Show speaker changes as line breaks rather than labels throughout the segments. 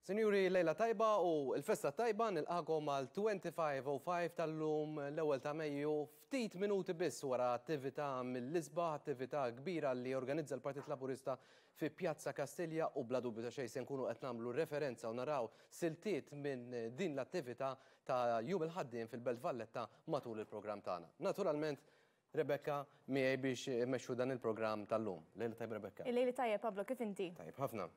Sinjuri, lejla tajba u l-festa tajba nilqakom għal 2505 tal-lum l-ewwel ta' Mejju ftit minuti biss wara attività mill-isbaħ, attività kbira li organizza l-Partit Laburista fi Pjazza Kastilja u bla dubju ta' xejn se nkunu qed nagħmlu referenza u naraw siltiet minn din l-attività ta' Jum il-Ħaddiem fil-Belt Valletta matul il-programm tagħna. Naturalment, Rebecca miegħi biex immexxu dan il-programm tal-lum. Lejla tajba Rebecca.
Il-lejli tajjeb Pablo, kif inti?
Tajjeb ħafna.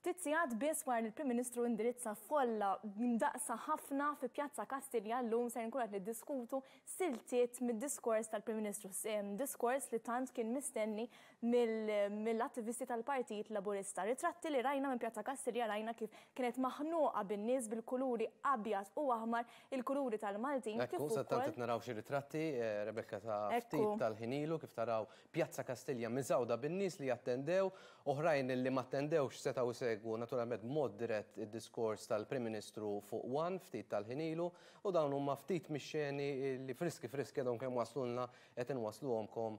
Ftit sigħat biss wara li l-Prim Ministru indirizza folla mdaqqsa ħafna fi Pjazza Kastilja llum ser nkunu qed niddiskutu siltiet mid-diskors tal-Prim Ministru, diskors li tant kien mistenni mill-attivisti tal-Partit Laburista. Ritratti li rajna minn Pjazza Kastilja rajna kif kienet maħnuqa bin-nies bil-kuluri abjad u aħmar, il-kuluri tal-Maltin.
Ekku, sadanittant qed naraw xi ritratti, Rebecca ta' ftit tal-ħin ilu kif taraw Pjazza Kastilja miżgħuda bin-nies li attendew, oħrajn li m'attendewx setgħu jsegwu naturalment b'mod dirett id-diskors tal-Prim Ministru fuq one ftit tal-ħin ilu u dawn huma ftit mix-xeni li friski friski għadhom kemm waslulna qed inwassluhomkom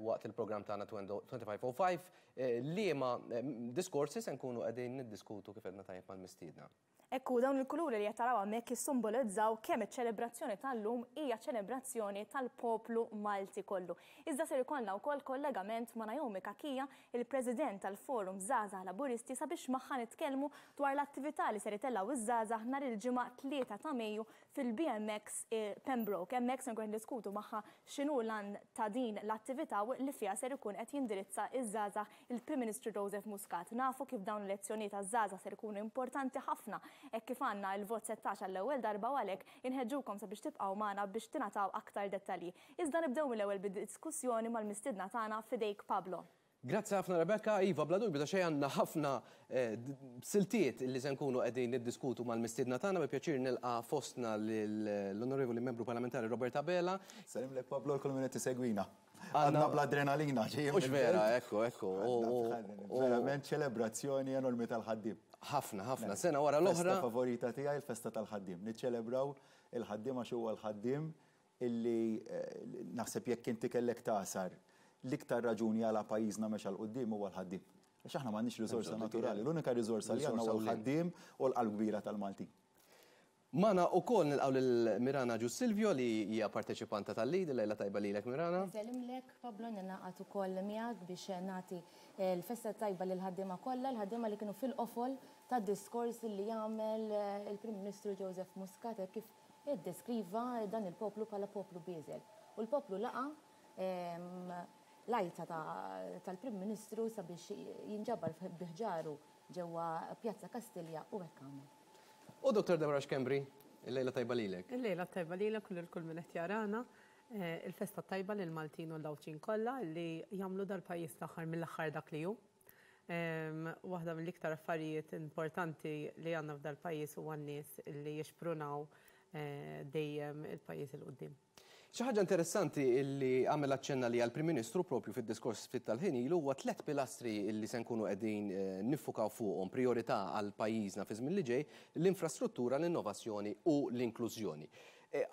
waqt il-programm tagħna 2505 liema diskorsi se nkunu qegħdin niddiskutu kif għedna tajjeb mal-mistiedna.
Hekk hu, dawn il-kuluri li qed taraw hawnhekk jissimbolizzaw kemm iċ-ċelebrazzjoni tal-lum hija ċelebrazzjoni tal-poplu Malti kollu. Iżda ser ikollna wkoll kollegament ma' Naomi Cachia, il-President tal-Forum Żgħażagħ Laburisti sabiex magħha nitkellmu dwar l-attività li ser itellgħu iż-żgħażagħ nhar il-Ġimgħa 3 ta' Mejju fil-BMX Pembroke. Hemmhekk ser nkunu qed niddiskutu magħha x'inhu l-għan ta' din l-attività u li fiha ser ikun qed jindirizza ż-żgħażagħ il-Prim Ministru Joseph Muscat. Nafu kif dawn l-elezzjonijiet għaż-żgħażagħ ser ikunu importanti ħafna hekk kif għandna il-vot 16 għall-ewwel darba u għalhekk inħeġġukom sabiex tibqgħu magħna biex tingħataw aktar dettalji. Iżda nibdew mill-ewwel bid-diskussjoni mal-mistiedna tagħna f'idejk Pablo.
Grazzi ħafna Rebecca, iva bla dubju ta' xejn għandna ħafna siltiet li se nkunu qegħdin niddiskutu mal-mistiedna tagħna, bi pjaċir nilqa' fostna lill-Onorevoli Membru Parlamentari Robert Abela.
Nsellimlek Pablo u lil kull min qed isegwina. Għadna bl-adrenalina ġejjin.
Mhux vera, ekku, ekku.
Verament ċelebrazzjoni enormi tal-ħaddiem.
Ħafna, ħafna. Sena wara l-oħra.
Festa favorita tiegħi l-festa tal-ħaddiem. Niċċelebraw il-ħaddiem għax huwa l-ħaddiem illi naħseb jekk inti kellek tagħsar l-iktar raġuni għala pajjiżna mexa 'l quddiem huwa l-ħaddiem. Għax aħna m'għandniex riżorsa naturali. L-unika riżorsa li għandna huwa l-ħaddiem u l-qalb kbira tal-Maltin.
Magħna ukoll nilqgħu lil Mirana Agius Silvio li hija parteċipanta tal-Lead. Il-lejla tajba lilek Mirana.
Insellimlek Pablo, ningħaqad ukoll miegħek biex nagħti l-festa t-tajba lill-ħaddiema kollha, l-ħaddiema li kienu fil-qofol tad-diskors li għamel il-Prim Ministru Joseph Muscat hekk kif iddeskriva dan il-poplu bħala poplu bieżel. U l-poplu laqa' l-għajta tal-Prim Ministru sabiex jinġabar bi ħġaru ġewwa Pjazza Kastilja u hekk għamel.
U Dottor Deborah Schembri, il-lejla tajba lilek.
Il-lejla tajba lilek u lil kull min qed jarana. Il-festa tajba lil Maltin u l-Għawdxin kollha li jagħmlu dal-pajjiż l-aħħar mill-aħħar dak li hu. Waħda mill-iktar affarijiet importanti li għandna f'dal-pajjiż huwa n-nies li jixprunaw dejjem il-pajjiż 'il quddiem.
Xi ħaġa interessanti li għamel aċċenn għaliha l-Prim Ministru propju fid-diskors ftit tal-ħin ilu huwa tlett pilastri li se nkunu qegħdin niffukaw fuqhom, prijorità għal pajjiżna fi żmien li ġej, l-infrastruttura, l-innovazzjoni u l-inklużjoni.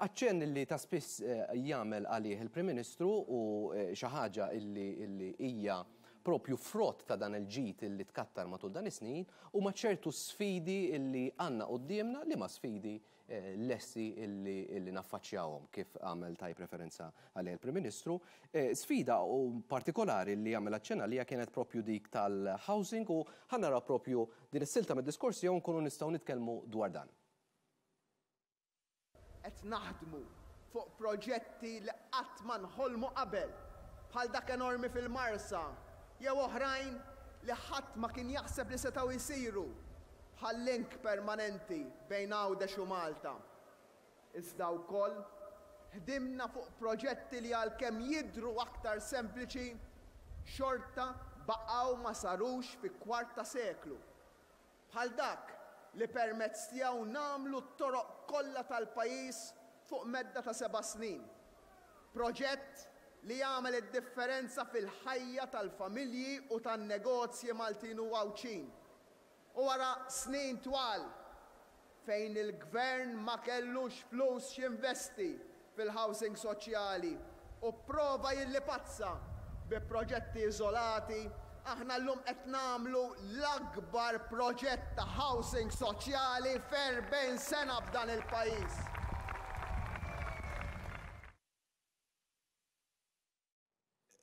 Aċċenn li ta' spiss jagħmel għalih il-Prim Ministru u xi ħaġa li hija propju frott ta' dan il-ġid li tkattar matul dan is-snin huma ċertu sfidi li għandna quddiemna, liema sfidi lesti illi naffaċċjawhom kif għamel tajjeb referenza għaliha il-Prim Ministru. Sfida u partikolari li għamel aċċenn għaliha kienet propju dik tal-housing u ħa naraw propju din is-silta mid-diskors tiegħu nkunu nistgħu nitkellmu dwar dan.
Qed naħdmu fuq proġetti li qatt ma nħolmu qabel, bħal dak enormi fil-Marsa jew oħrajn li ħadd ma kien jaħseb li setgħu jsiru, bħal link permanenti bejn Għawdex u Malta. Iżda wkoll ħdimna fuq proġetti li għalkemm jidhru aktar sempliċi, xorta baqgħu ma sarux fi kwart ta' seklu. Bħal dak li permezz tiegħu nagħmlu t-toroq kollha tal-pajjiż fuq medda ta' seba' snin. Proġett li jagħmel id-differenza fil-ħajja tal-familji u tan-negozji Maltin u Għawdxin. U wara snin twal fejn il-Gvern ma kellux flus x'jinvesti fil-housing soċjali u pprova jillipazza bi proġetti iżolati, Aħna llum qed nagħmlu l-akbar proġett ta' housing soċjali f'erbgħin sena f'dan il-pajjiż.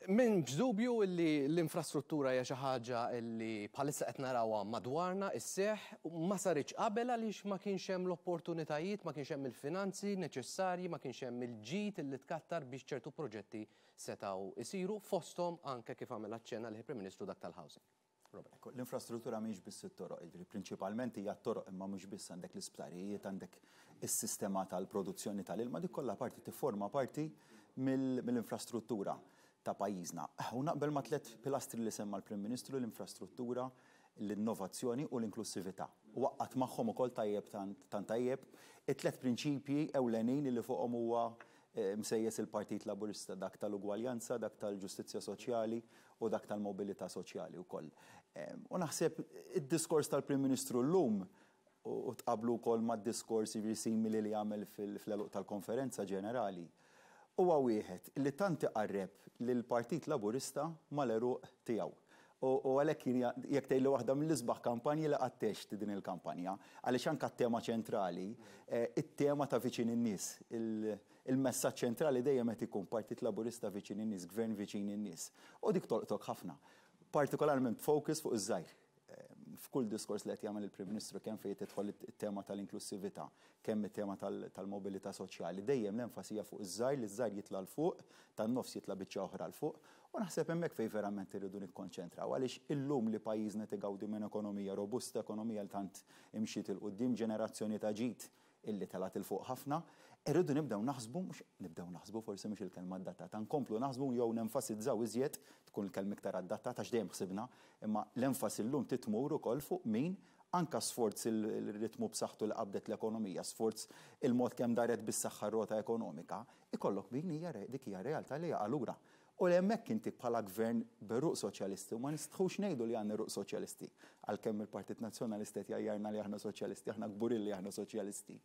M'hemmx dubju li l-infrastruttura hija xi ħaġa li bħalissa qed narawha madwarna isseħħ, ma saritx qabel għaliex ma kienx hemm l-opportunitajiet, ma kienx hemm il-finanzi neċessarji, ma kienx hemm il-ġid li tkattar biex ċertu proġetti setgħu isiru, fosthom anke kif għamel aċċenna l-Prim Ministru dak tal-housing.
Robert. L-infrastruttura mhix biss it-toroq, jiġifieri prinċipalment hija t-toroq imma mhux biss, għandek l-isptarijiet, għandek is-sistema tal-produzzjoni tal-ilma, dik kollha parti tifforma parti mill-infrastruttura ta' pajjiżna. U naqbel ma' tlett pilastri li semma l-Prim Ministru, l-infrastruttura, l-innovazzjoni u l-inklussività. U għaqqad magħhom ukoll tajjeb tant tajjeb it-tlett prinċipji ewlenin li fuqhom huwa msejjes il-Partit Laburista, dak tal-ugwaljanza, dak tal-ġustizzja soċjali u dak tal-mobilità soċjali wkoll. U naħseb id-diskors tal-Prim Ministru llum u tqablu wkoll mad-diskors jiġifieri simili li għamel fl-għeluq tal-konferenza ġenerali, huwa wieħed li tant iqarreb lill-Partit Laburista mal-għeruq tiegħu. U għalhekk jien jekk tgħidli waħda mill-isbaħ kampanji li qatt għext din il-kampanja, għaliex anke t-tema ċentrali, it-tema ta' viċin in-nies, il-messaġġ ċentrali dejjem qed ikun Partit Laburista viċin in-nies, Gvern viċin in-nies. U dik tolqtok ħafna. Partikolarment b'focus fuq iż-żgħir. F'kull diskors li qed jagħmel il-Prim Ministru kemm fejn tidħol it-tema tal-inklussività, kemm it-tema tal-mobilità soċjali, dejjem l-enfasi hija fuq iż-żgħir, li ż-żgħir jitla' 'l fuq, tan-nofs jitla' biċċa oħra 'l fuq. U naħseb hemmhekk fejn verament irridu nikkonċentraw għaliex illum li pajjiżna qed igawdi minn ekonomija robusta, ekonomija li tant imxiet 'il quddiem, ġenerazzjoni ta' ġid illi telgħet 'il fuq ħafna, irridu nibdew naħsbu, mhux nibdew naħsbu forsi mhux il-kelma adattata, nkomplu naħsbu jew nenfasizzaw iżjed, tkun il-kelma iktar adattata għax dejjem ħsibna, imma l-enfasi llum trid tmur ukoll fuq min anke sforz il-ritmu b'saħħtu li qabdet l-ekonomija, sforz il-mod kemm daret bis-saħħa r-rota ekonomika, ikollok min hija dik hija realtà li jaqa' lura. U li hemmhekk inti bħala gvern b'għeruq soċjalisti, u ma nistħux ngħidu li għandna għeruq soċjalisti, għalkemm il-Partit Nazzjonalista qed jgħajjarna li aħna soċjalisti, aħna kburin li aħna soċjalisti.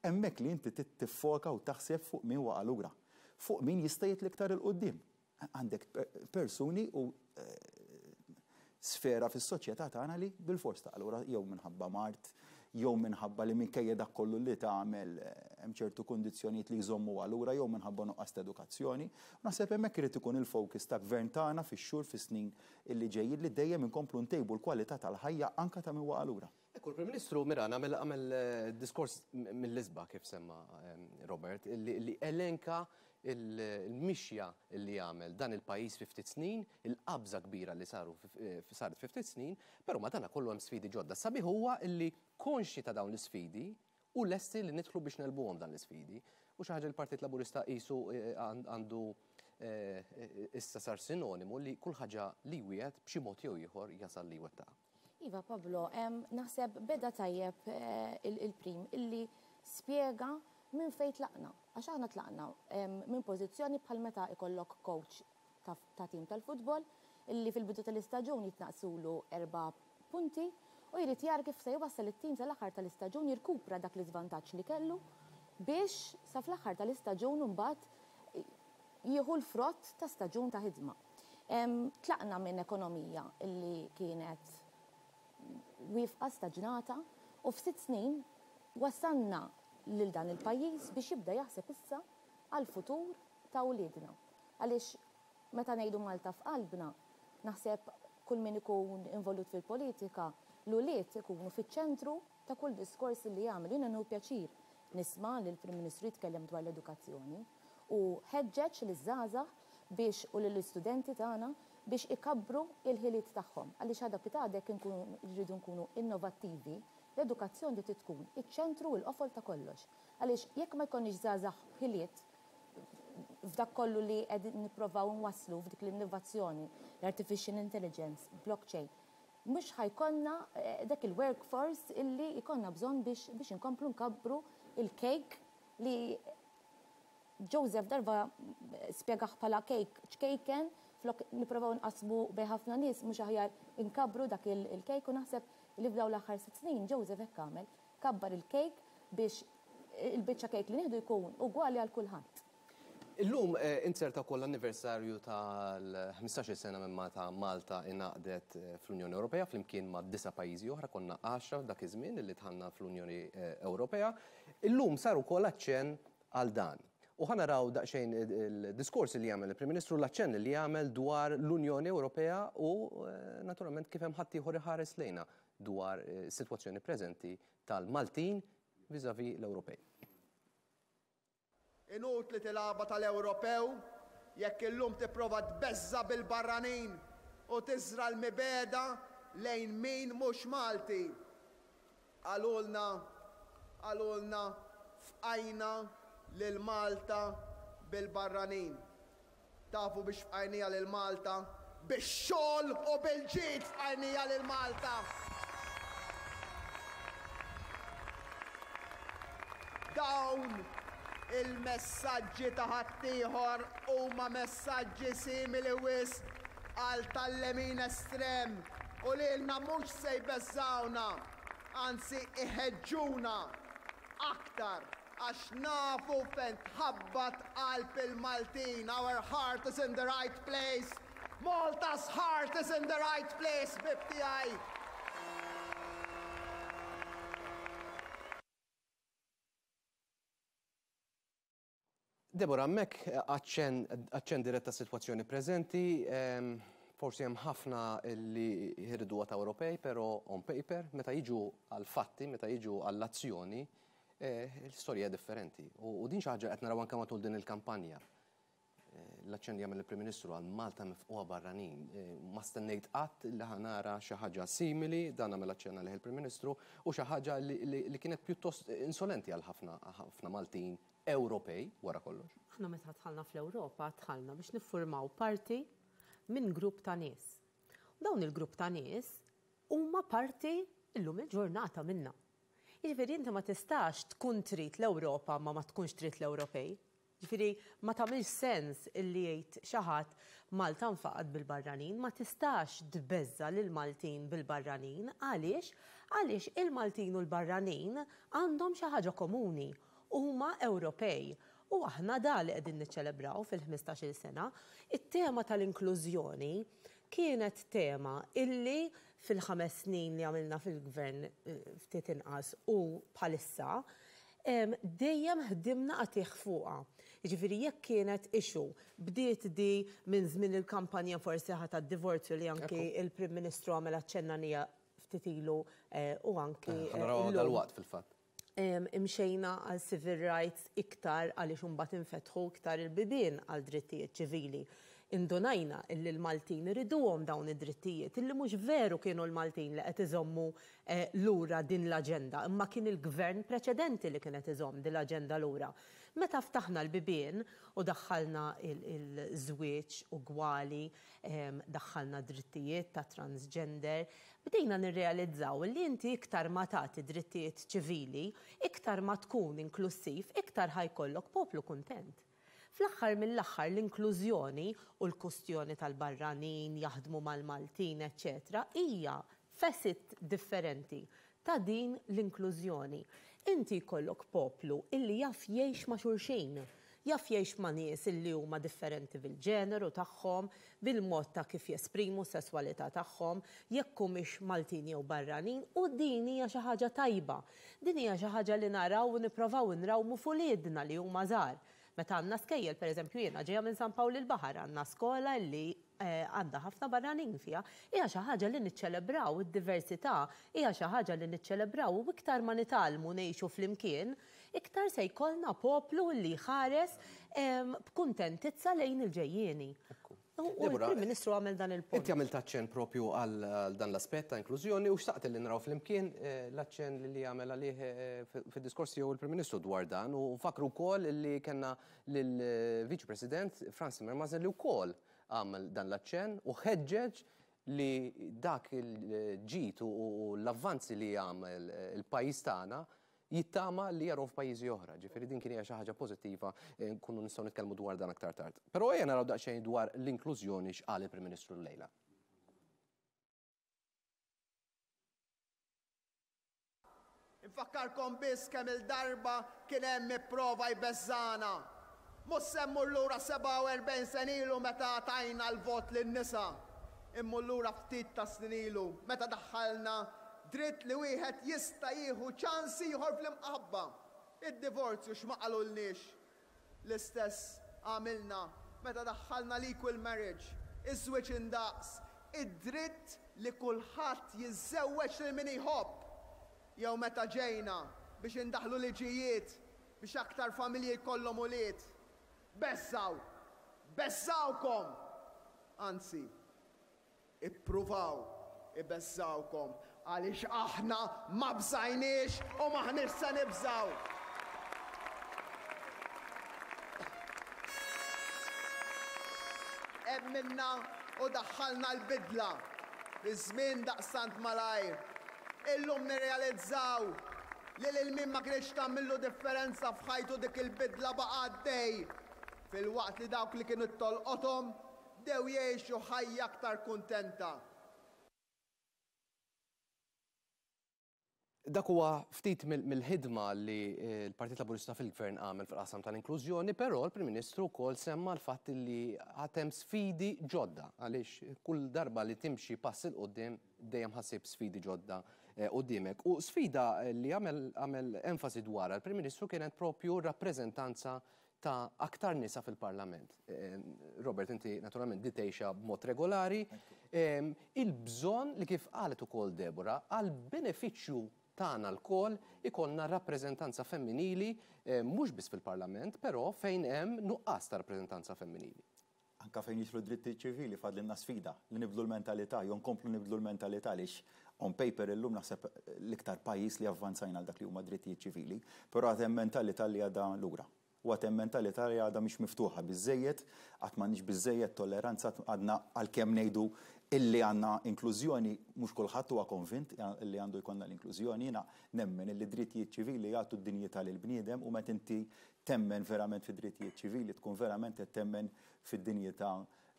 Hemmhekk li inti trid tiffoka u taħseb fuq min waqa' lura, fuq min jista' jitla' iktar 'il quddiem. Għandek persuni u sfera fis-soċjetà tagħna li bilfors taqa' lura jew minħabba mard, jew minħabba li minkejja dak kollu li tagħmel hemm ċertu kundizzjonijiet li jżommuha lura jew minħabba nuqqas ta' edukazzjoni. U naħseb hemmhekk irid ikun il-focus ta' gvern tagħna fix-xhur, fis-snin illi ġejjin li dejjem inkomplu ntejbu l-kwalità tal-ħajja anke ta' min waqa' lura.
Ekku, l-Prim Ministru Miran għamel għamel diskors mill-isbaħ kif semma Robert, li elenka il-mixja li għamel dan il-pajjiż fi ftit snin, il-qabża kbira li saru saret fi ftit snin, però madana kollu hemm sfidi ġodda. Sabiħ huwa li konxji ta' dawn l-isfidi u lesti li nidħlu biex negħlbuhom dan l-isfidi. U xi ħaġa l-Partit Laburista qisu għandu issa sar sinonimu li kull ħaġa li jwiegħed b'xi mod jew ieħor jasal li jwettaqha.
Iva Pablo, naħseb beda tajjeb il-Prim illi spjega minn fejn tlaqna. Għax aħna tlaqna minn pożizzjoni bħal meta ikollok coach ta' tim tal-futbol illi fil-bidu tal-istaġun jitnaqsulu 4 punti u jrid jara kif se jwassal it-tim sal-aħħar tal-istaġun jirkupra dak l-iżvantaġġ li kellu biex sa fl-aħħar tal-istaġun imbagħad jieħu l-frott ta' staġun ta' ħidma. Tlaqna minn ekonomija li kienet wieqfa, staġnata, u f'sitt snin wassalna lil dan il-pajjiż biex jibda jaħseb issa għall-futur ta' wliedna. Għaliex meta ngħidu Malta f'qalbna, naħseb kull min ikun involut fil-politika, l-ulied ikunu fiċ-ċentru ta' kull diskors li jagħmel. Jiena nieħu pjaċir nisma' lill-Prim Ministru jitkellem dwar l-edukazzjoni u ħeġġeġ liż-żgħażagħ biex u lill-istudenti tagħna biex ikabbru l-ħiliet tagħhom. Għaliex għada pitgħada jekk inkunu rridu nkunu innovattivi, l-edukazzjoni trid tkun iċ-ċentru u l-qofol ta' kollox. Għaliex jekk ma jkollniex żgħażagħ b'ħiliet f'dak kollu li qegħdin nipprovaw nwasslu f'dik l-innovazzjoni, l-artificial intelligence, blockchain, mhux ħa jkollna dak il-workforce illi jkollna bżonn biex biex inkomplu nkabbru il-cake li Joseph darba spjegah bħala cake ċkejken, flok nipprovaw nqassmu bejn ħafna nies mhux aħjar inkabbru dak il-cake u naħseb li f'dawn l-aħħar sitt snin Joseph hekk għamel, kabbar il-cake biex il-biċċa cake li nieħdu jkun ugwali għal kulħadd.
Illum inzerta wkoll l-anniversarju tal-15-il sena minn meta Malta ingħaqdet fl-Unjoni Ewropea flimkien ma' disa' pajjiżi oħra, konna għaxra dak iż-żmien li dħalna fl-Unjoni Ewropea. Illum sar ukoll aċċenn għal dan. U ħa naraw daqsxejn il-diskors li għamel il-Prim Ministru, l-aċċenn li għamel dwar l-Unjoni Ewropea u naturalment kif hemm ħaddieħor iħares lejna dwar is-sitwazzjoni preżenti tal-Maltin vis-à-vis l-Ewropej.
Inutli tilgħabha tal-Ewropew jekk illum tipprova tbeżża' bil-barranin u tiżra' l-mibegħda lejn min mhux Malti. Qalulna, qalulna fqajna lil Malta bil-barranin. Tafu biex fqajniha lil Malta? Bix-xogħol u bil-ġid fqajniha lil Malta! Dawn il-messaġġi ta' ħaddieħor huma messaġġi simili wisq għal tal-lemin estrem u lilna mhux se jbeżżgħuna, anzi iħeġġuna aktar għax nafu fejn tħabbat qalb il-Maltin, our heart is in the right place, Malta's heart is in the right place, ħbieb tiegħi.
Deborah, hemmhekk aċċenn dirett tas-sitwazzjoni preżenti, forsi hemm ħafna li jriduha ta' Ewropej, però on paper, meta jiġu għall-fatti, meta jiġu għall-azzjoni, l-istorja hija differenti. U din xi ħaġa qed naraw anke matul din il-kampanja. L-aċċenn li għamel il-Prim Ministru għal Malta mifqugħa barranin. Ma stennejt qatt li ħa nara xi ħaġa simili, dan għamel aċċenn għalih il-Prim Ministru, u xi ħaġa li kienet pjuttost insolenti għal ħafna Maltin Ewropej wara kollox.
Aħna meta dħalna fl-Ewropa dħalna biex niffurmaw parti minn grupp ta' nies. U dawn il-grupp ta' nies huma parti llum il-ġurnata minna. Jiġifieri inti ma tistax tkun trid l-Ewropa ma ma tkunx trid l-Ewropej. Ġifieri ma tagħmilx sens illi jgħid xi ħadd Malta nfaqgħet bil-barranin, ma tistax tbeżża' lill-Maltin bil-barranin. Għaliex? Għaliex il-Maltin u l-barranin għandhom xi ħaġa komuni. Huma Ewropej. U aħna da li qegħdin niċċelebraw fil-ħmistax-il sena. It-tema tal-inklużjoni kienet tema illi fil-ħames snin li għamilna fil-Gvern ftit inqas u bħalissa, dejjem ħdimna qatigħ fuqha. Jiġifieri jekk kienet issue, bdiet di minn żmien il-kampanja forsi ħa tad-divorzju li anki l-Prim Ministru għamel aċċenn għaliha ftit ilu u anki
Ħa narawha dalwaqt fil-fatt.
Imxejna għal civil rights iktar għaliex imbagħad infetħu iktar il-bibien għal drittijiet ċivili. Indunajna illi l-Maltin iriduhom dawn id-drittijiet, illi mhux veru kienu l-Maltin li qed iżommu lura din l-aġenda, imma kien il-gvern preċedenti li kien qed iżomm din l-aġenda lura. Meta ftaħna l-bibien u daħħalna l-żwieġ ugwali, daħħalna drittijiet ta' transgender, Bdejna nirrealizzaw li inti iktar ma tagħti drittijiet ċivili, iktar ma tkun inklussiv, iktar ħa jkollok poplu kuntent. Fl-aħħar mill-aħħar l-inklużjoni u l-kustjoni tal-barranin jaħdmu mal-Maltin eċċetera hija facet differenti ta' din l-inklużjoni. Inti jkollok poplu illi jaf jgħix ma' xulxin, jaf jgħix ma' nies illi huma differenti bil-ġeneru tagħhom, bil-mod ta' kif jesprimu s-sesswalità tagħhom, jekk humiex Maltin jew barranin, u din hija xi ħaġa tajba. Din hija xi ħaġa li naraw u nipprovaw inrawmu f'uliedna li huma żgħar. Meta għandna skejjel, pereżempju jiena ġejja minn San Pawl il-Baħar, għandna skola illi għandha ħafna barranin fiha, hija xi ħaġa li niċċelebraw, id-diversità hija xi ħaġa li niċċelebraw u iktar ma nitgħallmu ngħixu flimkien, iktar se jkollna poplu li jħares b'kuntentizza lejn il-ġejjieni. U l-Prim Ministru għamel dan il-punt.
Inti għamilt aċċenn propju għal dan l-aspett ta' inklużjoni u xtaqt li naraw flimkien l-aċċenn li għamel għalih fid-diskors tiegħu il-Prim Ministru dwar dan u nfakkru wkoll li kellna lill-Viċi President Frans Timmermans li wkoll għamel dan l-aċċenn u ħeġġeġ li dak il-ġid u l-avvanzi li għamel il-pajjiż tagħna jittama li jarhom f'pajjiżi oħra. Ġifieri din kien hija xi ħaġa pożittiva nkunu nistgħu nitkellmu dwar dan aktar tard. Però ejja naraw daqsxejn dwar l-inklużjoni x'qal il-Prim Ministru llejla.
Infakkarkom biss kemm-il darba kien hemm ipprova jbeżżagħna. Mhux se mmur lura 47 sena ilu meta tajna l-vot lin-nisa. Immur lura ftit tas-snin ilu meta daħħalna dritt li wieħed jista' jieħu ċans ieħor fl-imqabba. Id-divorzju x'ma qalulniex. L-istess għamilna meta daħħalna l-equal marriage, iż-żwieġ indaqs, id-dritt li kulħadd jiżżewweġ lil min jħobb. Jew meta ġejna biex indaħħlu liġijiet biex aktar familji jkollhom ulied. Beżżgħu! Beżżgħukom! Anzi, ippruvaw ibeżżgħukom għaliex aħna ma bżajniex u m'aħniex se nibżgħu! Emminna u daħħalna l-bidla fi żmien daqstant malajr. Illum nirrealizzaw li lil min ma kinitx tagħmillu differenza f'ħajtu dik il-bidla baqa' għaddej, filwaqt li dawk li kienu tolqothom bdew jgħixu ħajja aktar kuntenta.
Dak huwa ftit mill-ħidma li l-Partit Laburista fil-Gvern għamel fil-qasam tal-inklużjoni, però l-Prim Ministru wkoll semma l-fatt li għad hemm sfidi ġodda għaliex kull darba li timxi pass 'il quddiem dejjem ħa ssib sfidi ġodda quddiemek. U sfida li għamel enfasi dwarha l-Prim Ministru kienet propju r-rappreżentanza ta' aktar nisa fil-Parlament. Robert, inti naturalment di tgħixha b'mod regolari. Il-bżonn li kif qalet ukoll Deborah, għall-benefiċċju tagħna lkoll ikollna rappreżentanza femminili mhux biss fil-Parlament, però fejn hemm nuqqas ta' rappreżentanza femminili.
Anke fejn jidħlu d-drittijiet ċivili fadlilna sfida li nibdlu l-mentalità jew nkomplu nibdlu l-mentalità għaliex on paper illum naħseb l-iktar pajjiż li avvanzajna għal dak li huma drittijiet ċivili, però għad hemm mentalità li għadha lura. U għad hemm mentalità li għadha mhix miftuħa biżżejjed, għad m'għandniex biżżejjed tolleranza, għadna għalkemm ngħidu illi għandna inklużjoni, mhux kulħadd huwa konvint illi għandu jkollna l-inklużjoni. Jiena nemmen illi d-drittijiet ċivili jagħtu d-dinjità lill-bniedem u meta inti temmen verament fid-drittijiet ċivili tkun verament qed temmen fid-dinjità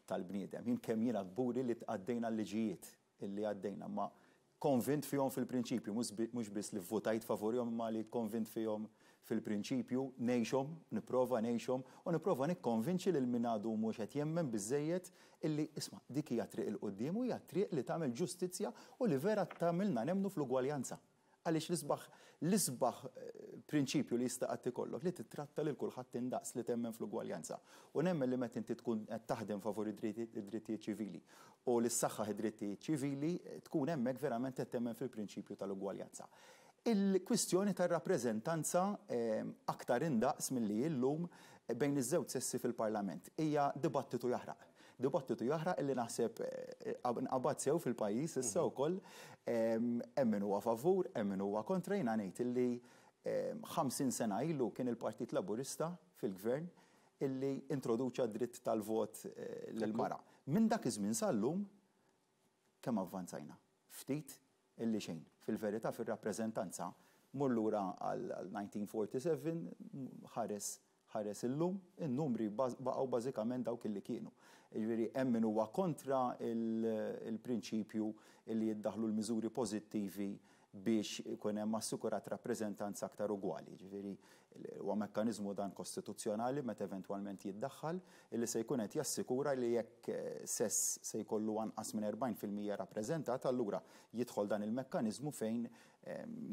tal-bniedem. Jien kemm jiena kburi li għaddejna l-liġijiet illi għaddejna, imma konvint fihom fil-prinċipju, mhux biss li vvutajt favurihom imma li konvint fihom fil-prinċipju, ngħixhom, nipprova ngħixhom u nipprova nikkonvinċi lil min għadu mhux qed jemmen biżżejjed illi isma' dik hija t-triq 'il quddiem u hija t-triq li tagħmel ġustizzja u li vera tagħmilna nemmnu fl-ugwaljanza. Għaliex l-isbaħ l-isbaħ prinċipju li jista' qatt ikollok li tittratta lil kulħadd indaqs, li temmen fl-ugwaljanza. U nemmen li meta inti tkun qed taħdem favur id-drittijiet ċivili u li ssaħħaħ id-drittijiet ċivili, tkun hemmhekk verament qed temmen fil-prinċipju tal-ugwaljanza. Il-kwistjoni tar-rappreżentanza aktar indaqs milli hi llum bejn iż-żewġ sessi fil-Parlament hija dibattitu jaħraq. Dibattitu jaħraq illi naħseb nqabad sew fil-pajjiż issa wkoll. Hemm min huwa favur, hemm min huwa kontra. Jiena ngħid illi 50 sena ilu kien il-Partit Laburista fil-Gvern illi introduċa d-dritt tal-vot lill-mara. Minn dak iż-żmien sal-lum kemm avvanzajna? Ftit illi xejn. Fil-verità fir-rappreżentanza, mur lura għal 1947, ħares ħares illum, in-numri baqgħu bażikament dawk illi kienu. Jiġifieri hemm min huwa kontra l-prinċipju illi jiddaħħlu l-miżuri pożittivi biex ikun hemm assikurat rappreżentanza aktar ugwali. Jiġifieri huwa mekkaniżmu dan kostituzzjonali meta eventwalment jiddaħħal illi se jkun qed jassikura li jekk sess se jkollu anqas minn 40% rappreżentat allura jidħol dan il-mekkaniżmu fejn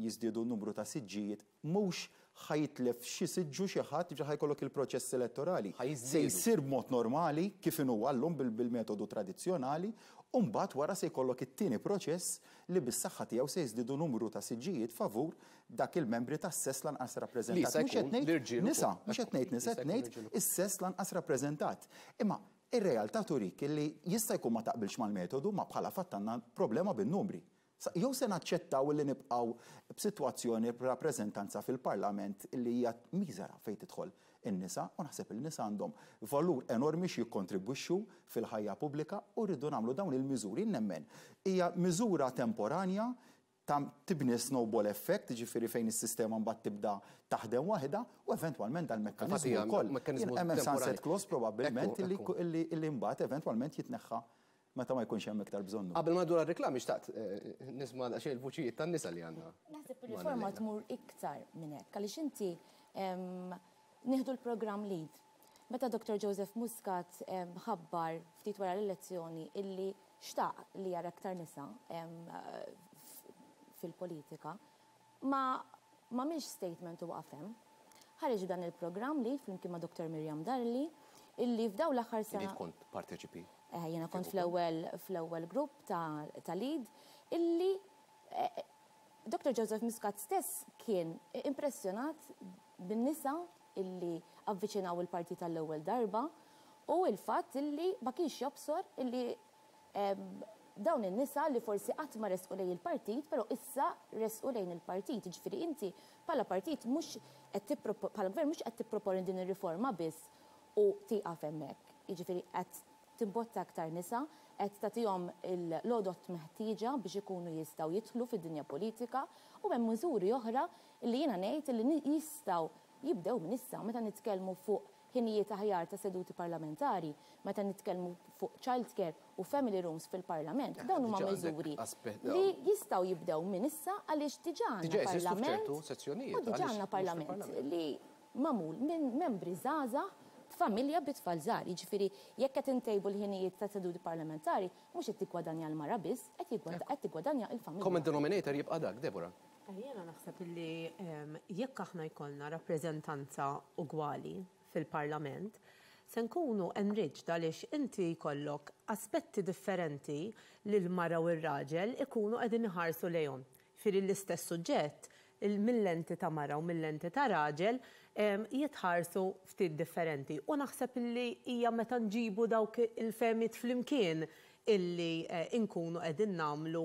jiżdiedu n-numru ta' siġġijiet mhux ħa jitlef xi siġġu xi ħadd, jiġifieri ħa jkollok il-proċess elettorali. Se jsir b'mod normali kif inhu llum bil-metodu tradizzjonali u mbagħad wara se jkollok it-tieni proċess li bis-saħħa tiegħu se jiżdiedu numru ta' siġġijiet favur dak il-membri tas-sess l-anqas rappreżentat. Mhux qed ngħid nisa, mhux qed ngħid nisa, qed ngħid is-sess l-anqas rappreżentat. Imma ir-realtà turik illi jista' jkun ma taqbilx mal-metodu, ma bħala fatt għandna problema bin-numri. Jew se naċċettaw li nibqgħu b'sitwazzjoni b'rappreżentanza fil-Parlament li hija miżera fejn tidħol in-nisa u naħseb li n-nisa għandhom valur enormi x'jikkontribwixxu fil-ħajja pubblika u rridu nagħmlu dawn il-miżuri. Jien nemmen hija miżura temporanja ta' tibni snowball effect, jiġifieri fejn is-sistema mbagħad tibda taħdem waħedha u eventwalment dal-mekkaniżmu wkoll. Hemm sunset clause probabbilment illi mbagħad eventwalment jitneħħa meta ma jkunx hemm iktar bżonnu.
Qabel ma ngħaddu għar-riklami xtaqt nisma' daqsxejn il-vuċijiet tan-nisa li għandna.
Naħseb ir-riforma tmur iktar minn hekk għaliex inti nieħdu l-programm LEAD. Meta Dottor Joseph Muscat ħabbar ftit wara l-elezzjoni illi xtaq li jara iktar nisa fil-politika, ma m'għamilx statement u waqaf hemm. Ħareġ b'dan il-programm li, flimkien ma' Dottor Miriam Dalli, illi f'dawn l-aħħar sena.
Illi kont parteċipi.
Jiena kont fl-ewwel fl-ewwel grupp ta' lead illi Dottor Joseph Muscat stess kien impressjonat bin-nisa illi avviċinaw il-partit għall-ewwel darba u l-fatt illi ma kienx jobsor illi dawn in-nisa li forsi qatt ma resqu lejn il-partit però issa resqu lejn il-partit. Jiġifieri inti bħala partit mhux qed bħala gvern mhux qed tipproponi din ir-riforma biss u tieqaf hemmhekk. Jiġifieri qed timbotta aktar nisa, qed tagħtihom l-għodod meħtieġa biex ikunu jistgħu jidħlu fid-dinja politika u hemm miżuri oħra li jiena ngħid li jistgħu jibdew minn issa meta nitkellmu fuq ħinijiet aħjar ta' seduti parlamentari, meta nitkellmu fuq child care u family rooms fil-Parlament. Dawn huma miżuri li jistgħu jibdew minn issa għaliex diġà għandna Parlament u diġà għandna Parlament li magħmul minn membri żgħażagħ b'familja bi tfal żgħar. Jiġifieri jekk qed intejbu l-ħinijiet ta' seduti parlamentari, mhux qed tiggwadanja l-mara biss, qed tiggwadanja l-familja.
Common denominator jibqa' dak, Deborah.
Jiena naħseb illi jekk aħna jkollna rappreżentanza ugwali fil-Parlament, se nkunu enriched għaliex inti jkollok aspetti differenti li l-mara u r-raġel ikunu qegħdin iħarsu lejhom. Jiġifieri l-istess suġġett mil-lenti ta' mara u mil-lenti ta' raġel jitħarsu ftit differenti. U naħseb illi hija meta nġibu dawk il-fehmiet flimkien illi nkunu qegħdin nagħmlu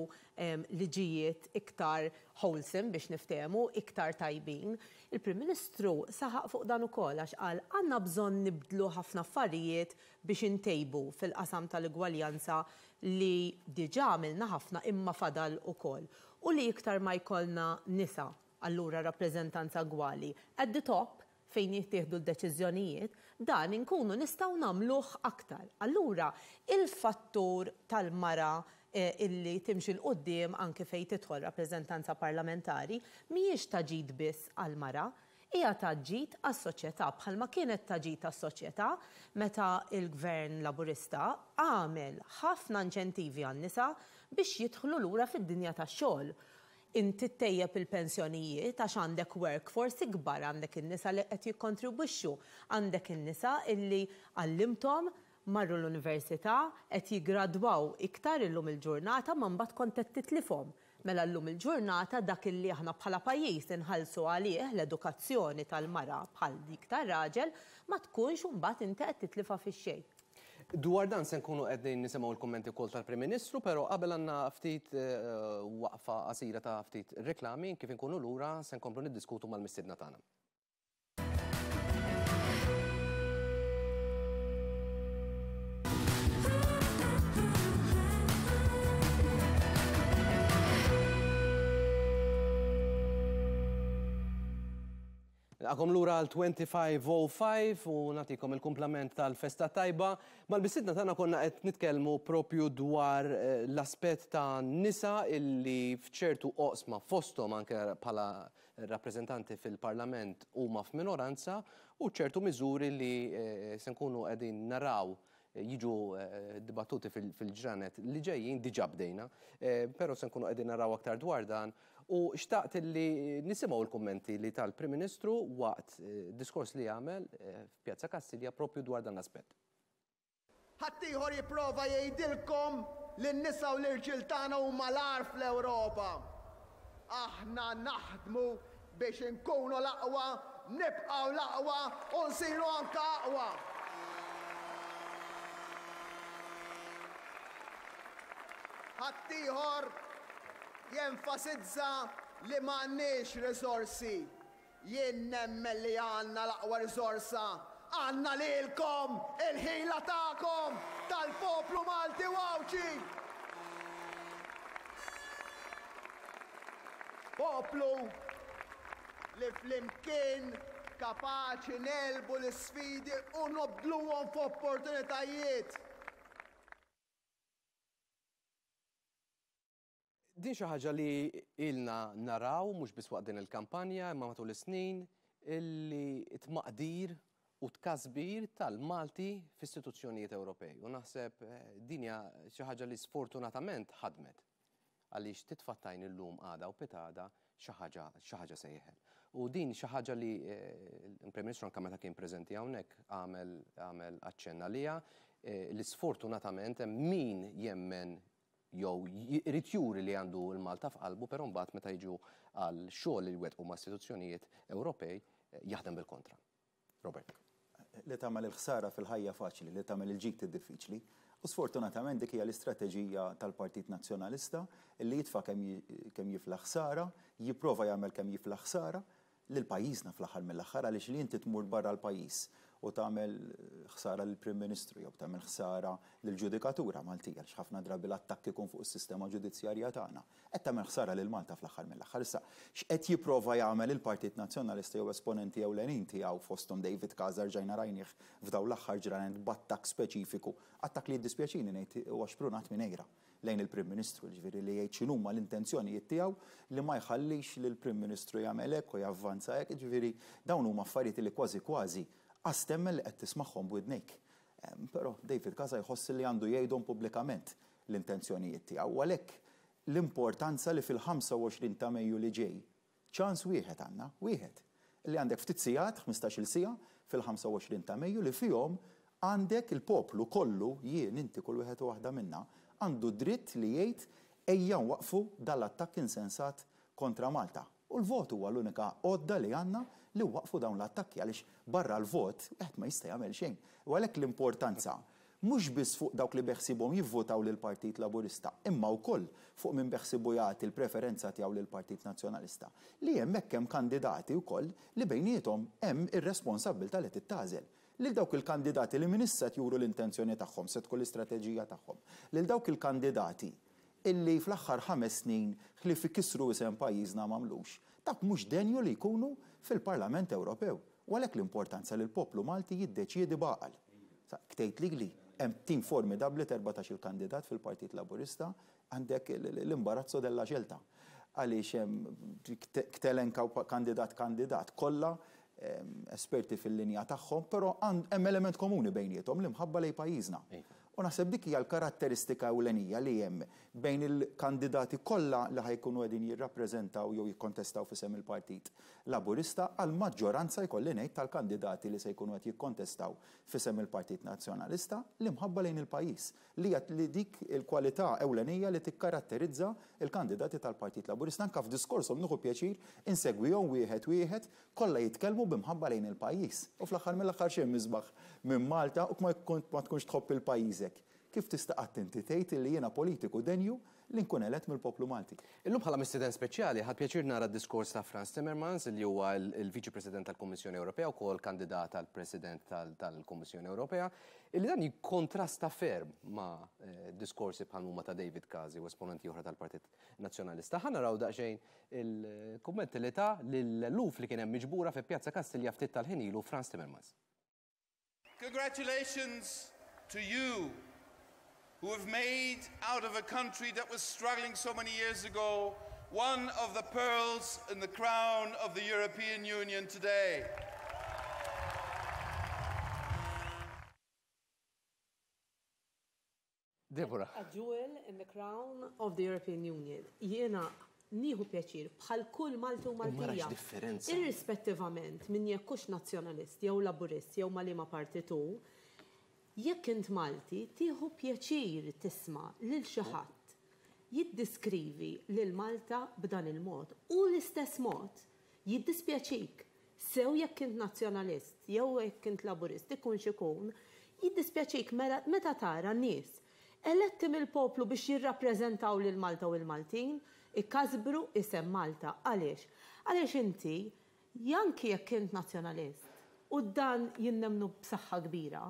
liġijiet iktar wholesome biex niftehmu, iktar tajbin. Il-Prim Ministru saħaq fuq dan ukoll għax qal għandna bżonn nibdlu ħafna affarijiet biex intejbu fil-qasam tal-igwaljanza li diġà għamilna ħafna imma fadal ukoll. U li iktar ma jkollna nisa, allura rappreżentanza gwali, at the top, fejn jittieħdu d-deċiżjonijiet, dan inkunu nistgħu nagħmluh aktar. Allura, il-fattur tal-mara illi timxi 'l quddiem anki fejn tidħol rappreżentanza parlamentari mhijiex ta' ġid biss għall-mara, hija ta' ġid għas-soċjetà bħalma kienet ta' ġid għas-soċjetà meta l-Gvern Laburista għamel ħafna inċentivi għan-nisa biex jidħlu lura fid-dinja tax-xogħol. Inti ttejjeb il-pensjonijiet għax għandek workforce ikbar, għandek in-nisa li qed jikkontribwixxu, għandek in-nisa illi għallimthom, marru l-università, qed jiggradwaw iktar illum il-ġurnata ma mbagħad kont qed titlifhom. Mela llum il-ġurnata dak illi aħna bħala pajjiż inħallsu għalih, l-edukazzjoni tal-mara bħal dik tar-raġel, ma tkunx imbagħad inti qed titlifha fix-xejn.
Dwar dan se nkunu qegħdin nisimgħu l-kummenti wkoll tal-Prim Ministru, però qabel għandna ftit waqfa qasira ta' ftit reklami, kif inkunu lura se nkomplu niddiskutu mal-mistiedna tagħna. Nilqakom lura għal 2505 u nagħtikom il-kumplament tal-festa tajba. Mal-mistiedna tagħna konna qed nitkellmu propju dwar eh, l-aspett ta' nisa illi f'ċertu oqsma fosthom anke bħala rappreżentanti fil-Parlament huma f'minoranza u ċertu miżuri li eh, se nkunu qegħdin naraw jiġu dibattuti fil-ġranet li ġejjin, diġà bdejna, però se nkunu qegħdin naraw aktar dwar dan u xtaqt li nisimgħu l-kummenti li tal-Prim Ministru waqt diskors li għamel f'Pjazza Kastilja propju dwar dan l-aspett.
Ħaddieħor jipprova jgħidilkom li n-nisa u l-irġiel tagħna huma l-agħar fl-Ewropa. Aħna naħdmu Biex inkunu l-aqwa, nibqgħu l-aqwa u nsiru anke aqwa. Ħaddieħor jenfasizza li m'għandniex riżorsi. Jien nemmen li għandna l-aqwa riżorsa. Għandna lilkom, il-ħila tagħkom, tal-poplu Malti u Għawdxi. Poplu li flimkien kapaċi negħlbu l-isfidi u nobdluhom f'opportunitajiet.
Din xi ħaġa li ilna naraw mhux biss waqt din il-kampanja imma matul is-snin illi t-tmaqdir u tkasbir tal-Malti f'istituzzjonijiet Ewropej. U naħseb din hija xi ħaġa li sfortunatament ħadmet. Għaliex titfa' t-tajn illum għada u pitgħada xi ħaġa xi ħaġa se jeħel. U din xi ħaġa li l-Prim Ministru anke meta kien preżenti hawnhekk għamel għamel aċċenn għaliha li sfortunatament hemm min jemmen jew jrid juri li għandu l-Malta f'qalbu però mbagħad meta jiġu għal xogħol li jwettqu ma' istituzzjonijiet Ewropej jaħdem bil-kontra. Robert.
Li tagħmel il-ħsara fil-ħajja faċli, li tagħmel il-ġid diffiċli. U sfortunatament dik hija l-istrateġija tal-Partit Nazzjonalista li jitfa' kemm kemm jiflaħ ħsara, jipprova jagħmel kemm jiflaħ ħsara lil pajjiżna fl-aħħar mill-aħħar għaliex li inti tmur barra l-pajjiż u tagħmel ħsara lill-Prim Ministru jew tagħmel ħsara lill-ġudikatura Maltija għaliex ħafna drabi l-attakk ikun fuq is-sistema ġudizzjarja tagħna. Qed tagħmel ħsara lil Malta fl-aħħar mill-aħħar. Issa, x'qed jipprova jagħmel il-Partit Nazzjonalista jew esponenti ewlenin tiegħu fosthom David Casa rġajna rajnih f'dawn l-aħħar ġranet b'attakk speċifiku, attakk li jiddispjaċini ngħid huwa xprunat minn għira lejn il-Prim Ministru, jiġifieri li jgħid x'inhuma l-intenzjonijiet tiegħu li ma jħallix lill-Prim Ministru jagħmel hekk u javvanza hekk, jiġifieri dawn huma affarijiet li kważi kważi qas temmen li qed tismagħhom b'widnejk. Però David Casa jħoss li għandu jgħidhom pubblikament l-intenzjonijiet tiegħu u għalhekk l-importanza li fil-25 ta' Mejju li ġej, ċans wieħed għandna, wieħed, li għandek ftit sigħat, ħmistax-il siegħa, fil-25 ta' Mejju li fihom għandek il-poplu kollu, jien, inti, kull wieħed u waħda minna, għandu d-dritt li jgħid ejja nwaqqfu dan l-attakk insensat kontra Malta. U l-vot huwa l-unika għodda li għandna li nwaqqfu dawn l-attakki għaliex barra l-vot wieħed ma jista' jagħmel xejn. U għalhekk l-importanza mhux biss fuq dawk li beħsiebhom jivvotaw lill-Partit Laburista imma wkoll fuq min beħsiebu jagħti l-preferenza tiegħu lill-Partit Nazzjonalista, li hemmhekk hemm kandidati wkoll li bejniethom hemm ir-responsabbiltà li titgħażel. Lil dawk il-kandidati li minn issa qed juru l-intenzjoni tagħhom, se tkun l-istrateġija tagħhom. Lil dawk il-kandidati illi fl-aħħar ħames snin ħlief ikissru isem pajjiżna m'għamlux, dawk mhux denju li jkunu fil-Parlament Ewropew. U għalhekk l-importanza li l-poplu Malti jiddeċiedi b'għaqal. Sa, tgħid lili, hemm tim formidabbli t'erbatax-il kandidat fil-Partit Laburista, għandek l-imbarazzo della scelta. Għaliex hemm telenka kandidat kandidat, kollha esperti fil-linja tagħhom, però hemm element komuni bejniethom, l-imħabba lejn pajjiżna. U naħseb dik hija l-karatteristika ewlenija li hemm bejn il-kandidati kollha li ħa jkunu qegħdin jirrappreżentaw jew jikkontestaw f'isem il-Partit Laburista għall-maġġoranza jkolli ngħid tal-kandidati li se jkunu qed jikkontestaw f'isem il-Partit Nazzjonalista, l-imħabba lejn il-pajjiż, li hija li dik il-kwalità ewlenija li tikkaratterizza l-kandidati tal-Partit Laburista. Anke f'diskorshom nieħu pjaċir insegwihom wieħed wieħed, kollha jitkellmu b'imħabba lejn il-pajjiż. U fl-aħħar mill-aħħar x'hemm isbaħ minn Malta u ma tkunx tħobb il pajjiżek? Kif tista' qatt inti tgħid illi jiena politiku denju li nkun elett mill-poplu Malti?
Illum bħala mistieden speċjali ħadt pjaċir nara d-diskors ta' Frans Timmermans li huwa l-Viċi President tal-Kummissjoni Ewropea wkoll kandidat għal President tal-Kummissjoni Ewropea, illi dan jikkontrasta ferm ma' diskorsi bħal huma ta' David Casa u esponenti oħra tal-Partit Nazzjonalista. Ħa naraw daqsxejn il-kummenti li ta lill-eluf li kien hemm miġbura fi Pjazza Kastilja ftit tal-ħin ilu Frans Timmermans.
Congratulations to you who have made out of a country that was struggling so many years ago one of the pearls in the crown of the European Union today.
Deborah.
A jewel in the crown of the European Union. Jiena nieħu pjaċir bħal kull Malti u Maltija.
differenza.
Irrispettivament minn jekk hux nazzjonalist jew laburist jew ma' liema partit hu, jekk int Malti tieħu pjaċir tisma' lil xi ħadd jiddiskrivi lil Malta b'dan il-mod u l-istess mod jiddispjaċik Sew jekk int Nazzjonalist jew jekk int Laburist, ikun x'ikun, jiddispjaċik meta tara nies eletti mill-poplu biex jirrappreżentaw lil Malta u l-Maltin ikasbru isem Malta. Għaliex? Għaliex inti, anki jekk int Nazzjonalist, u dan jien nemmnu b'saħħa kbira,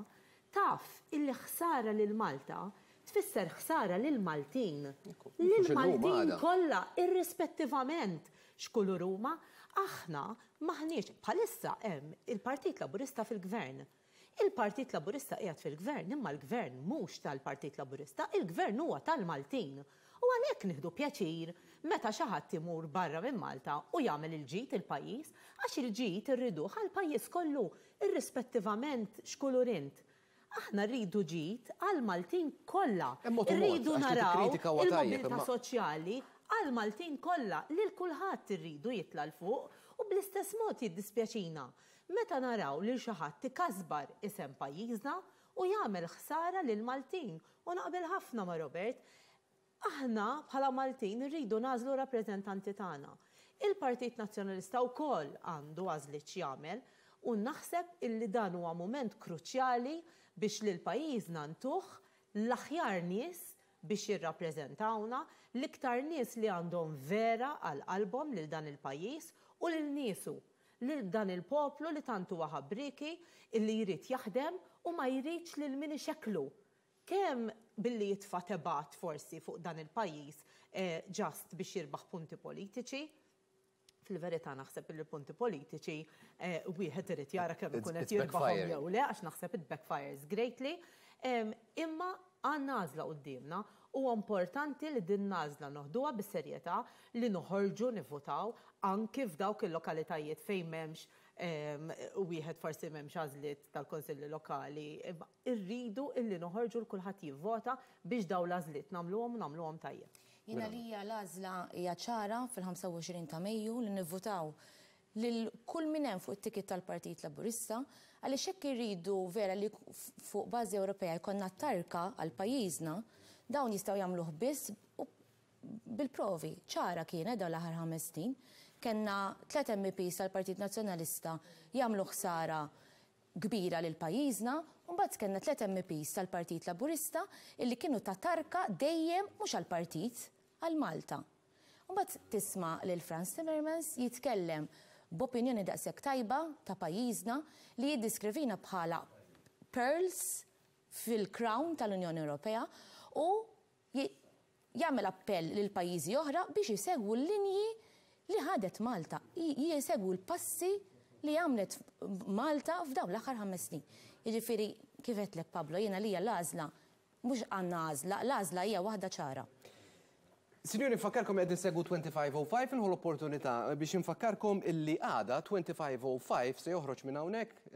taf illi ħsara lil Malta tfisser ħsara lill-Maltin. Lill-Maltin kollha, irrispettivament x'kulur huma, aħna m'aħniex, bħalissa hemm il-Partit Laburista fil-Gvern. Il-Partit Laburista qiegħed fil-Gvern imma l-Gvern mhux tal-Partit Laburista, il-Gvern huwa tal-Maltin. U għalhekk nieħdu pjaċir meta xi ħadd imur barra minn Malta u jagħmel il-ġid il-pajjiż, għax il-ġid irriduh għall-pajjiż kollu, irrispettivament x'kulur int. Aħna rridu ġid għall-Maltin kollha.
Hemm mod u mod,
Irridu
għax li
naraw
tikkritika huwa tajjeb,
il-mobilità
imma.
soċjali għall-Maltin kollha, lil kulħadd irridu jitla' 'l fuq u bl-istess mod jiddispjaċina meta naraw lil xi ħadd ikasbar isem pajjiżna u jagħmel ħsara lill-Maltin. U naqbel ħafna ma' Robert. Aħna bħala Maltin irridu nagħżlu r-rappreżentanti tagħna. Il-Partit Nazzjonalista wkoll għandu għażliet x'jagħmel u naħseb illi dan huwa mument kruċjali biex lil pajjiżna ntuh l-aħjar nies biex jirrappreżentawna, l-iktar nies li għandhom vera għal qalbhom lil dan il-pajjiż u lil niesu, lil dan il-poplu li tant huwa ħabrieki illi jrid jaħdem u ma jridx lil min ixekklu Kemm billi jitfa' tebgħat forsi fuq dan il-pajjiż just biex jirbaħ punti politiċi. Fil-verità naħseb illi punti politiċi wieħed irid jara kemm ikun qed jirbaħhom jew le għax naħseb it backfires greatly. Imma għandna għażla quddiemna. Huwa importanti li din l-għażla noħduha bis-serjetà, li noħorġu nivvutaw anki f'dawk il-lokalitajiet fejn m'hemmx wieħed forsi m'hemmx għażliet tal-kunsilli lokali. Irridu illi noħorġu l kulħadd jivvota biex dawn l-għażliet nagħmluhom u nagħmluhom tajjeb.
Jien għalija l-għażla hija ċara fil-25 ta' Mejju li nivvutaw lil kull min hemm fuq it-ticket tal-Partit Laburista għaliex jekk irridu vera li fuq bażi Ewropea jkollna tarka għal pajjiżna, dawn jistgħu jagħmluh biss bil-provi. Ċara kienet dawn l-aħħar 5 snin. Kellna tlett MEPs tal-Partit Nazzjonalista jagħmlu ħsara kbira lil pajjiżna u mbagħad kellna tlett MEPs tal-Partit Laburista illi kienu ta' tarka dejjem mhux għall-partit, għal Malta. U mbagħad tisma' lil Frans Timmermans jitkellem b'opinjoni daqshekk tajba ta' pajjiżna li jiddiskrivina bħala pearls fil-crown tal-Unjoni Ewropea u jagħmel appell lil pajjiżi oħra biex isegwu l-linji li ħadet Malta, jsegwu l-passi li għamlet Malta f'dawn l-aħħar 5 snin. Jiġifieri, kif għedtlek Pablo, jien għalija l-għażla mhux għandna għażla, l-għażla hija waħda ċara.
Sinjuri nfakkarkom qegħdin issegwu 2505 nieħu l-opportunità biex infakkarkom illi għada 2505 se joħroġ minn hawnhekk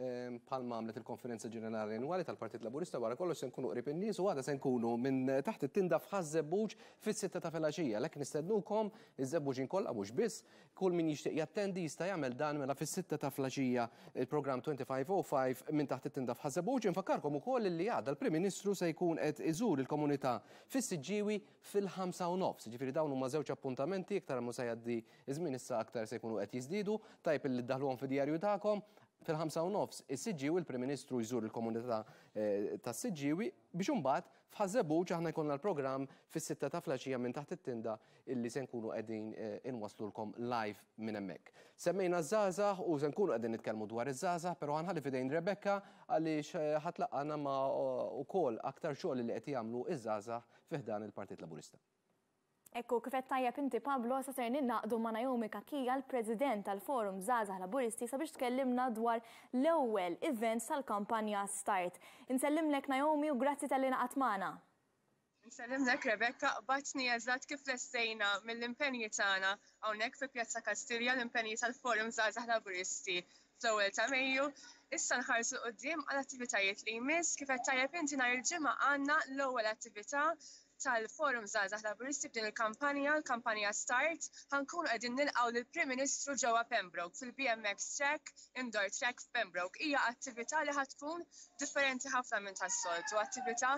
bħalma għamlet il-Konferenza Ġenerali Annwali tal-Partit Laburista wara kollox se nkunu qrib in-nies u għada se nkunu minn taħt it-tinda f'Ħaż-Żebbuġ fis-sitta ta' filgħaxija. Għalhekk nistednukom iż-Żebbuġin kollha mhux biss, kull min jixtieq jattendi jista' jagħmel dan mela fis-sitta ta' filgħaxija il-programm 2505 minn taħt it-tinda f'Ħaż-Żebbuġ. Infakkarkom ukoll li għada l-Prim Ministru se jkun qed iżur il-komunità fis-Siġġiewi fil-ħamsa u nofs. Jiġifieri dawn huma żewġ appuntamenti, iktar ma se jgħaddi ż-żmien issa aktar se jkunu qed jiżdiedu. Tajjeb illi ddaħħluhom fid-djarju tagħkom. Fil-5:30 is-Siġġiewi l-Prim Ministru jżur il-komunità tas-Siġġiewi biex imbagħad f'Ħaż-Żebbuġ aħna jkollna l-programm fis-sitta ta' flaxija minn taħt it-tinda illi se nkunu qegħdin inwasslulkom live minn hemmhekk. Semmejna ż-żgħażagħ u se nkunu qegħdin nitkellmu dwar iż-żgħażagħ, però ħa nħalli f'idejn Rebecca għaliex ħa tlaqqagħna ma' ukoll aktar xogħol li qed jagħmlu ż-żgħażagħ fi ħdan il-Partit Laburista.
Ekku, kif għedt tajjeb inti Pablo, issa ser ningħaqdu ma' Naomi Cachia, l-President tal-Forum Żgħażagħ Laburisti sabiex tkellimna dwar l-ewwel event tal-kampanja Start. Insellimlek Naomi u grazzi talli ngħaqadt magħna.
Insellimlek Rebecca, qbadtni eżatt kif lestejna mill-impenji tagħna hawnhekk fi Pjazza Kastilja, l-impenji tal-Forum Żgħażagħ Laburisti fl-ewwel ta' Mejju. Issa nħarsu 'l quddiem għall-attivitajiet li jmiss. Kif għedt tajjeb inti nhar il-Ġimgħa għandna l-ewwel attività tal-Forum Żgħażagħ Laburisti b'din il-kampanja, l-kampanja Start. Ħa nkunu qegħdin nilqgħu lill-Prim Ministru ġewwa Pembroke fil-BMX Track, Indoor Track f'Pembroke. Hija attività li ħa tkun differenti ħafna minn tas-soltu, attività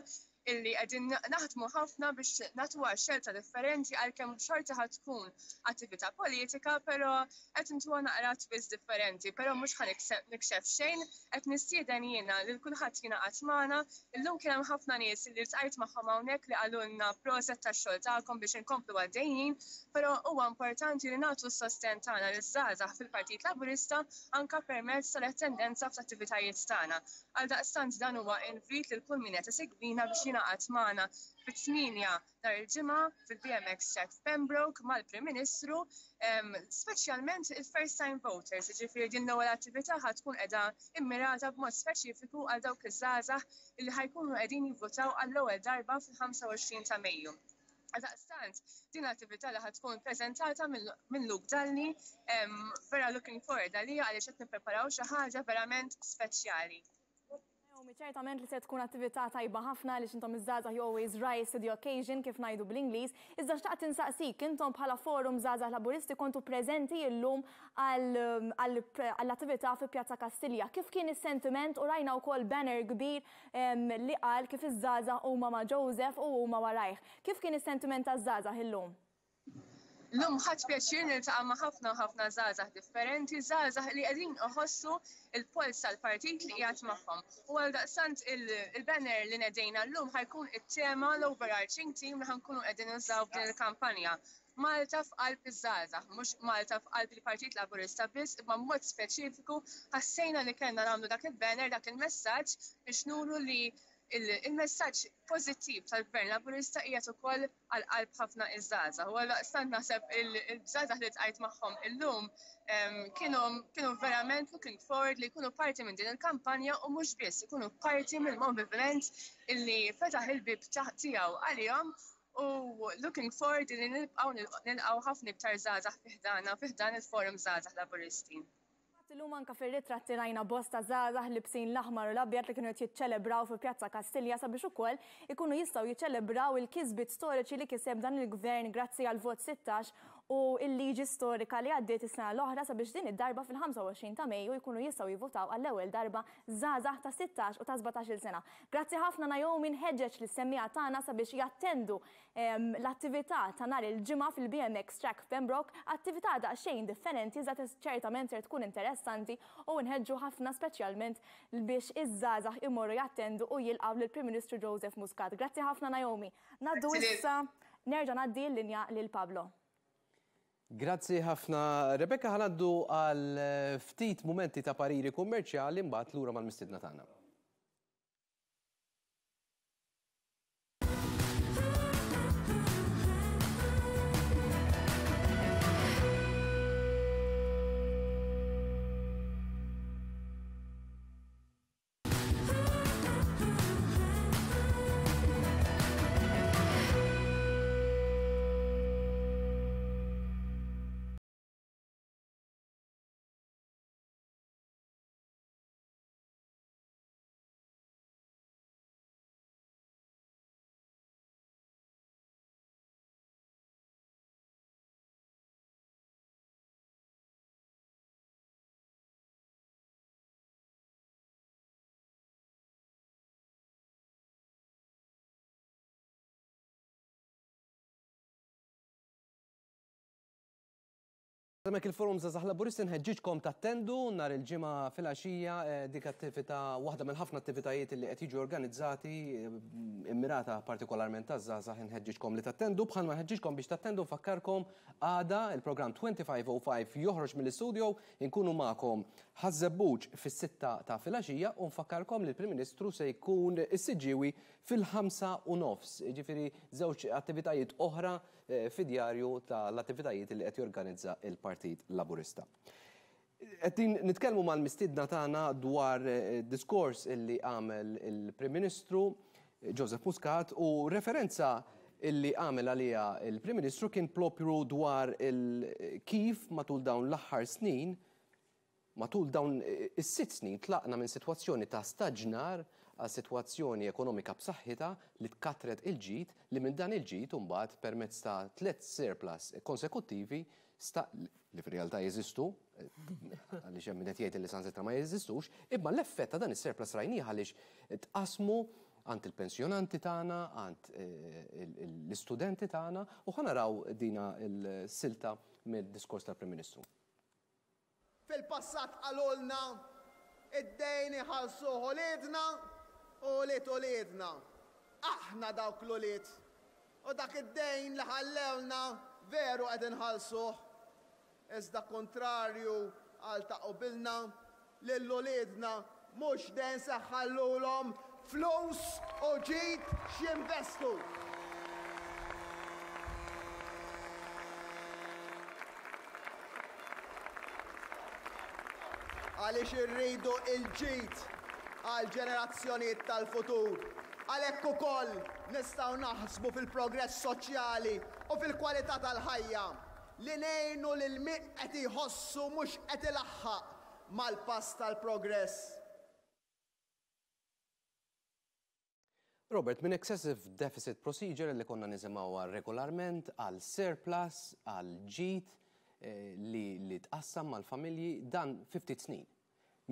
illi qegħdin naħdmu ħafna biex nagħtuha xelta differenti għalkemm xorta ħa tkun attività politika, però qed intuha naqra twist differenti, però mhux ħa nikxef xejn, qed nistieden jiena lil kulħadd jingħaqad magħna. Illum kien hemm ħafna nies li ltqajt magħhom hawnhekk li qalulna proset tax-xogħol tagħkom biex inkomplu għaddejjin, però huwa importanti li nagħtu s-sostenn tagħna liż-żgħażagħ fil-Partit Laburista anke permezz tal-attendenza fl-attivitajiet tagħna. Għaldaqstant dan huwa invit lil kull min qed isegwina biex jingħaqad magħna fit-8 nhar il-Ġimgħa fil-BMX Track f'Pembroke mal-Prim Ministru, speċjalment il-first time voters, jiġifieri din l-ewwel attività ħa tkun qiegħda immirata b'mod speċifiku għal dawk iż-żgħażagħ illi ħa jkunu qegħdin jivvutaw għall-ewwel darba fil-25 ta' Mejju. Għaldaqstant, din l-attività li ħa tkun preżentata minn Luke Dalli, vera looking forward għaliha għaliex qed nippreparaw xi ħaġa verament speċjali.
Naomi, ċertament li se tkun attività tajba ħafna għaliex intom iż-żgħażagħ you always rise to the occasion kif ngħidu bl-Ingliż. Iżda xtaqt insaqsik, intom bħala Forum Żgħażagħ Laburisti kontu preżenti llum għall-attività fi Pjazza Kastilja. Kif kien is-sentiment u rajna wkoll banner kbir li qal kif iż-żgħażagħ huma ma' Joseph u huma warajh. Kif kien is-sentiment taż-żgħażagħ illum?
Llum ħadt pjaċir niltaqa' ma' ħafna u ħafna żgħażagħ differenti, żgħażagħ li qegħdin iħossu l-polz tal-partit li qiegħed magħhom. U għaldaqstant il-banner li nedejna llum ħa jkun it-tema, l-overarching theme li ħa nkunu qegħdin nużaw f'din il-kampanja. Malta f'qalb iż-żgħażagħ, mhux Malta f'qalb il-Partit Laburista biss, imma b'mod speċifiku ħassejna li kellna nagħmlu dak il-banner, dak il-messaġġ biex nuru li il-messaġġ pożittiv tal-Gvern Laburista qiegħed ukoll għal qalb ħafna iż-żgħażagħ. U għaldaqstant naħseb il-żgħażagħ li ltqajt magħhom illum kienu kienu verament looking forward li jkunu parti minn din il-kampanja u mhux biss ikunu parti mill-moviment illi fetaħ il-bieb tiegħu għalihom u looking forward li nibqgħu nilqgħu ħafna iktar żgħażagħ fi ħdana fi ħdan il-Forum Żgħażagħ Laburisti.
Fatt illum anke fir-ritratti rajna bosta żgħażagħ libsin l-aħmar u l-abjad li kienu qed jiċċelebraw fi Pjazza Kastilja sabiex ukoll ikunu jistgħu jiċċelebraw il-kisbiet storiċi li kiseb dan il-Gvern grazzi għall-vot 16 u l-liġi storika li għaddiet is-sena l-oħra sabiex din id-darba fil-25 ta' Mejju jkunu jistgħu jivvutaw għall-ewwel darba żgħażagħ ta' 16 u ta' 17-il sena. Grazzi ħafna Naomi nħeġġeġ lis-semmiegħa tagħna sabiex jattendu L-attività ta' nhar il-Ġimgħa fil-BMX Track f'Pembroke, attività daqsxejn differenti iżda ċertament ser tkun interessanti u nħeġġu ħafna speċjalment biex iż-żgħażagħ imorru jattendu u jilqgħu lill-Prim Ministru Joseph Muscat. Grazzi ħafna Naomi. Ngħaddu issa nerġa' ngħaddi l-linja lil Pablo.
Grazzi ħafna Rebecca, ħa ngħaddu għal ftit mumenti ta' pariri kummerċjali mbagħad lura mal-mistiedna tagħna. Hemmhekk il-Forum Żgħażagħ Laburisti nħeġġiġkom tattendu nhar il-Ġimgħa filgħaxija dik attività waħda mill-ħafna attivitajiet li qed jiġu organizzati immirata partikolarment għaż-żgħażagħ inħeġġiġkom li tattendu bħalma nħeġġiġkom biex tattendu nfakkarkom għada il-programm 2505 joħroġ mill-istudio inkunu magħkom Ħaż-Żebbuġ fis-sitta ta' filgħaxija u nfakkarkom li l-Prim Ministru se jkun is-Siġġiewi fil-ħamsa u nofs, jiġifieri żewġ attivitajiet oħra fid-djarju tal-attivitajiet li qed jorganizza l-Partit Laburista. Qegħdin nitkellmu mal-mistiedna tagħna dwar diskors illi għamel il-Prim Ministru Joseph Muscat u referenza illi għamel għaliha il-Prim Ministru kien propju dwar kif matul dawn l-aħħar snin Matul dawn is-sitt snin tlaqna minn sitwazzjoni ta' staġnar għal sitwazzjoni ekonomika b'saħħitha li tkattret il-ġid li minn dan il-ġid imbagħad permezz ta' tlett surplus konsekuttivi sta li fir-realtà jeżistu, għaliex hemm min qed jgħid li saħansitra ma jeżistux, imma l-effett ta' dan is-surplus rajnih għaliex tqassmu għand il-pensjonanti tagħna, għand l-istudenti tagħna u ħa naraw dina l-silta mid-diskors tal-Prim Ministru.
Fil-passat qalulna, id-dejn iħallsuh uliedna u ulied uliedna. Aħna dawk l-ulied. U dak id-dejn li ħallewlna veru qed inħallsuh. Iżda kuntrarju għal ta' qubilna, lil uliedna mhux dejn se nħallulhom flus u ġid x'jinvestu. Għaliex irridu l-ġid għall-ġenerazzjonijiet tal-futur. Għalhekk ukoll. Nistgħu naħsbu fil-progress soċjali u fil-kwalità tal-ħajja, li ngħinu lil min qed jħossu mhux qed ilaħħaq mal-pass tal-progress.
Robert, minn excessive deficit procedure li konna nisimgħuha regolarment għal surplus, għal ġid li, li tqassam mal-familji, dan fi ftit snin.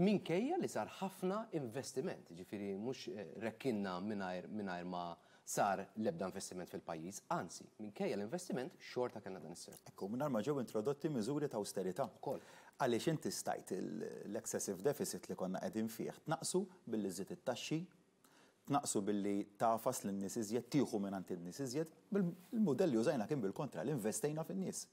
Minkejja li sar ħafna investiment, ġifieri mhux rekkinna mingħajr mingħajr ma sar l-ebda investiment fil-pajjiż, anzi, minkejja l-investiment xorta kellna dan is-surplus.
Ekku, mingħajr ma ġew introdotti miżuri ta' awsterità.
Ukoll.
Għaliex inti stajt l-excessive deficit li konna qegħdin fih tnaqqsu billi żżid it-taxxi, tnaqqsu billi tagħfas lin-nies iżjed, tieħu mingħand in-nies iżjed. Il-mudell li użajna kien bil-kontra, li investejna fin-nies.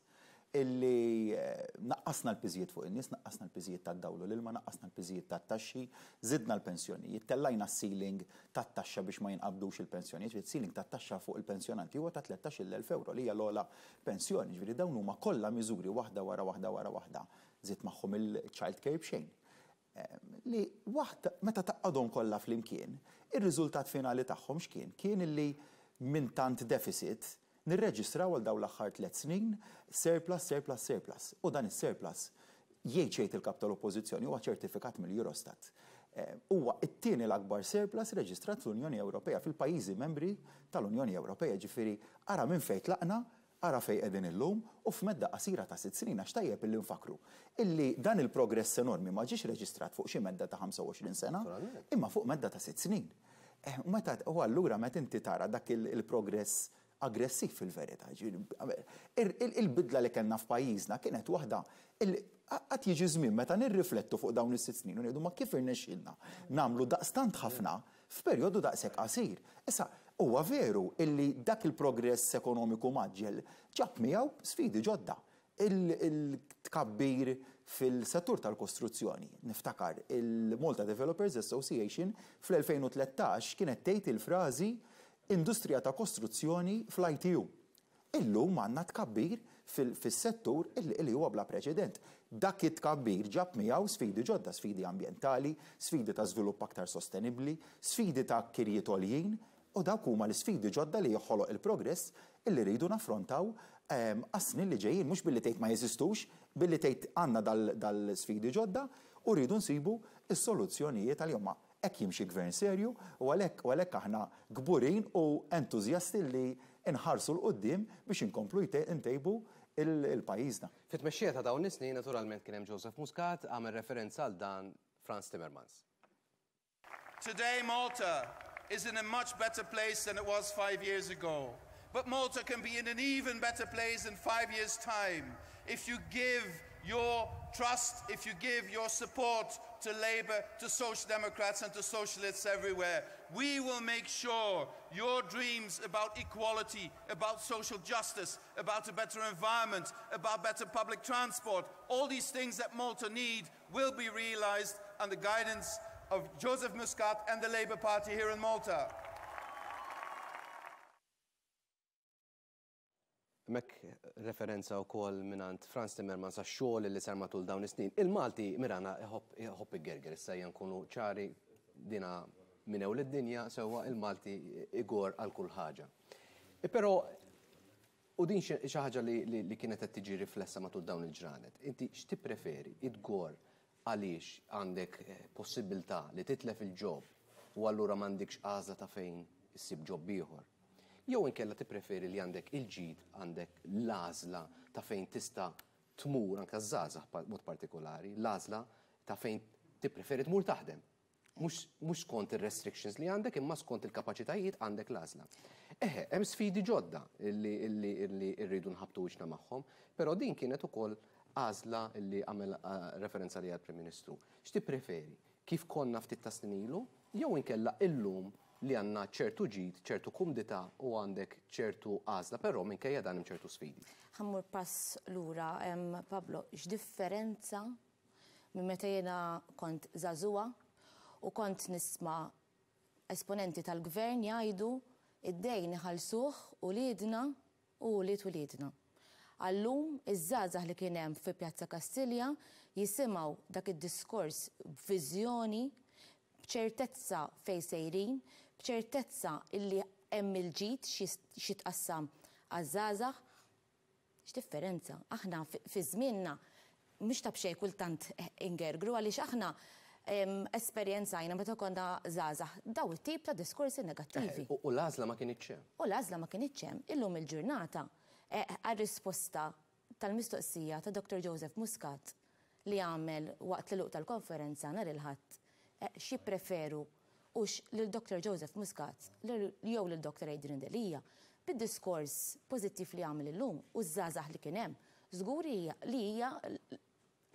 Illi naqqasna l-piżijiet fuq in-nies, naqqasna l-piżijiet tad-dawl u l-ilma, naqqasna l-piżijiet tat-taxxi, żidna l-pensjonijiet, tellajna s-ceiling tat-taxxa biex ma jinqabdux il-pensjonijiet, ġifieri ceiling tat-taxxa fuq il-pensjonanti huwa ta' 13,000 ewro li hija l-ogħla pensjoni, ġifieri dawn huma kollha miżuri waħda wara waħda wara waħda, żied magħhom il-child care b'xejn. Li waħda, meta tgħaqqadhom kollha flimkien, ir-riżultat finali tagħhom x'kien? Kien illi minn tant deficit nirreġistraw għal dawn l-aħħar tlett snin surplus, surplus, surplus. U dan is-surplus, jgħid x'jgħid il-Kap tal-Oppożizzjoni, huwa ċertifikat mill-Eurostat. Huwa t-tieni l-akbar surplus reġistrat fl-Unjoni Ewropea, fil-pajjiżi membri tal-Unjoni Ewropea. Ġifieri ara minn fejn tlaqna, ara fejn qegħdin illum u f'medda qasira ta' sitt snin għax tajjeb illi nfakkru illi dan il-progress enormi ma ġiex reġistrat fuq xi medda ta' 25 sena imma fuq medda ta' sitt snin. U meta u allura meta inti tara dak il-progress aggressiv fil-verità, il-bidla li kellna f'pajjiżna kienet waħda illi għad jiġi żmien meta nirriflettu fuq dawn is-sitt snin u ngħidu ma kif irnexxielna nagħmlu daqstant ħafna f'perjodu daqshekk qasir. Issa, huwa veru illi dak il-progress ekonomiku mgħaġġel ġab miegħu sfidi ġodda. Il-tkabbir fil-settur tal-kostruzzjoni. Niftakar il-Malta Developers Association fl-2013 kienet tgħid il-frażi industrija ta' kostruzzjoni fl-ITU. Illum għandna tkabbir fis-settur li huwa bla preċedent. Dak it-tkabbir ġab miegħu sfidi ġodda, sfidi ambjentali, sfidi ta' żvilupp aktar sostenibbli, sfidi ta' kirjiet għoljin, u dawk huma l-isfidi ġodda li joħoloq il-progress illi rridu naffrontaw għas-snin li ġejjin, mhux billi tgħid ma jeżistux, billi tgħid għandna dal-sfidi ġodda u rridu nsibu s-soluzzjonijiet għalihom. Hekk jimxi gvern serju u għalhekk u għalhekk aħna kburin u entużjasti li nħarsu 'l quddiem biex inkomplu ntejbu l-pajjiżna.
Fit-tmexxija ta' dawn is-snin naturalment kien hemm Joseph Muscat, għamel referenza għal dan Frans Timmermans.
Today Malta is in a much better place than it was five years ago. But Malta can be in an even better place in five years' time if you give your trust, if you give your support to Labour, to Social Democrats and to Socialists everywhere. We will make sure your dreams about equality, about social justice, about a better environment, about better public transport, all these things that Malta need will be realised under guidance of Joseph Muscat and the Labour Party here in Malta.
Hemmhekk referenza wkoll mingħand Frans Timmermans għax-xogħol li sar matul dawn is-snin. Il-Malti Mirana iħobb iħobb igerger, issa ejja nkunu ċari dina minn ewl id-dinja sewwa il-Malti igor għal kull ħaġa. Però u din xi ħaġa li, li kienet qed tiġi riflessa matul dawn il-ġranet. Inti x'tippreferi? Idgor għaliex għandek possibilità li titlef il-job u allura m'għandikx għażla ta' fejn issib job ieħor. Jew inkella tippreferi li għandek il-ġid, għandek l-għażla ta' fejn tista' tmur anke żgħażagħ b'mod partikolari, l-għażla ta' fejn tippreferi tmur taħdem. Mhux skont ir-restrictions li għandek imma skont il-kapaċitajiet għandek l-għażla. Eħe, hemm sfidi ġodda li rridu nħabbtu wiċċna magħhom, però din kienet ukoll għażla li għamel referenza għaliha l-Prim Ministru. X'tippreferi? Kif konna ftit ta' snin ilu jew inkella illum li għandna ċertu ġid, ċertu kumdità u għandek ċertu għażla, però minkejja dan hemm ċertu sfidi.
Ħa mmur pass lura, Pablo, x'differenza minn meta jiena kont żagħżugħa u kont nisma' esponenti tal-Gvern jgħidu id-dejn iħallsuh uliedna u ulied uliedna. Għal-lum iż-żgħażagħ li kien hemm fi Pjazza Kastilja jisimgħu dak id-diskors b'viżjoni, b'ċertezza fejn sejrin, b'ċertezza illi hemm il-ġid x'jitqassam għaż-żgħażagħ. X'differenza! Aħna fi żmienna mhux ta' b'xejn kultant ingergru għaliex aħna esperjenzajna meta konna żgħażagħ dawn it-tip ta' diskorsi negattivi.
U l-għażla ma kinitx hemm.
U l-għażla ma kinitx hemm. Illum il-ġurnata għar-risposta tal-mistoqsija ta' Dottor Joseph Muscat li għamel waqt l-għeluq tal-konferenza nhar il-Ħadd x'jippreferu hux lil Dottor Joseph Muscat jew lil Dottor Adrian Delia, bid-diskors pożittiv li għamel illum u ż-żgħażagħ li kien hemm, żgur li hija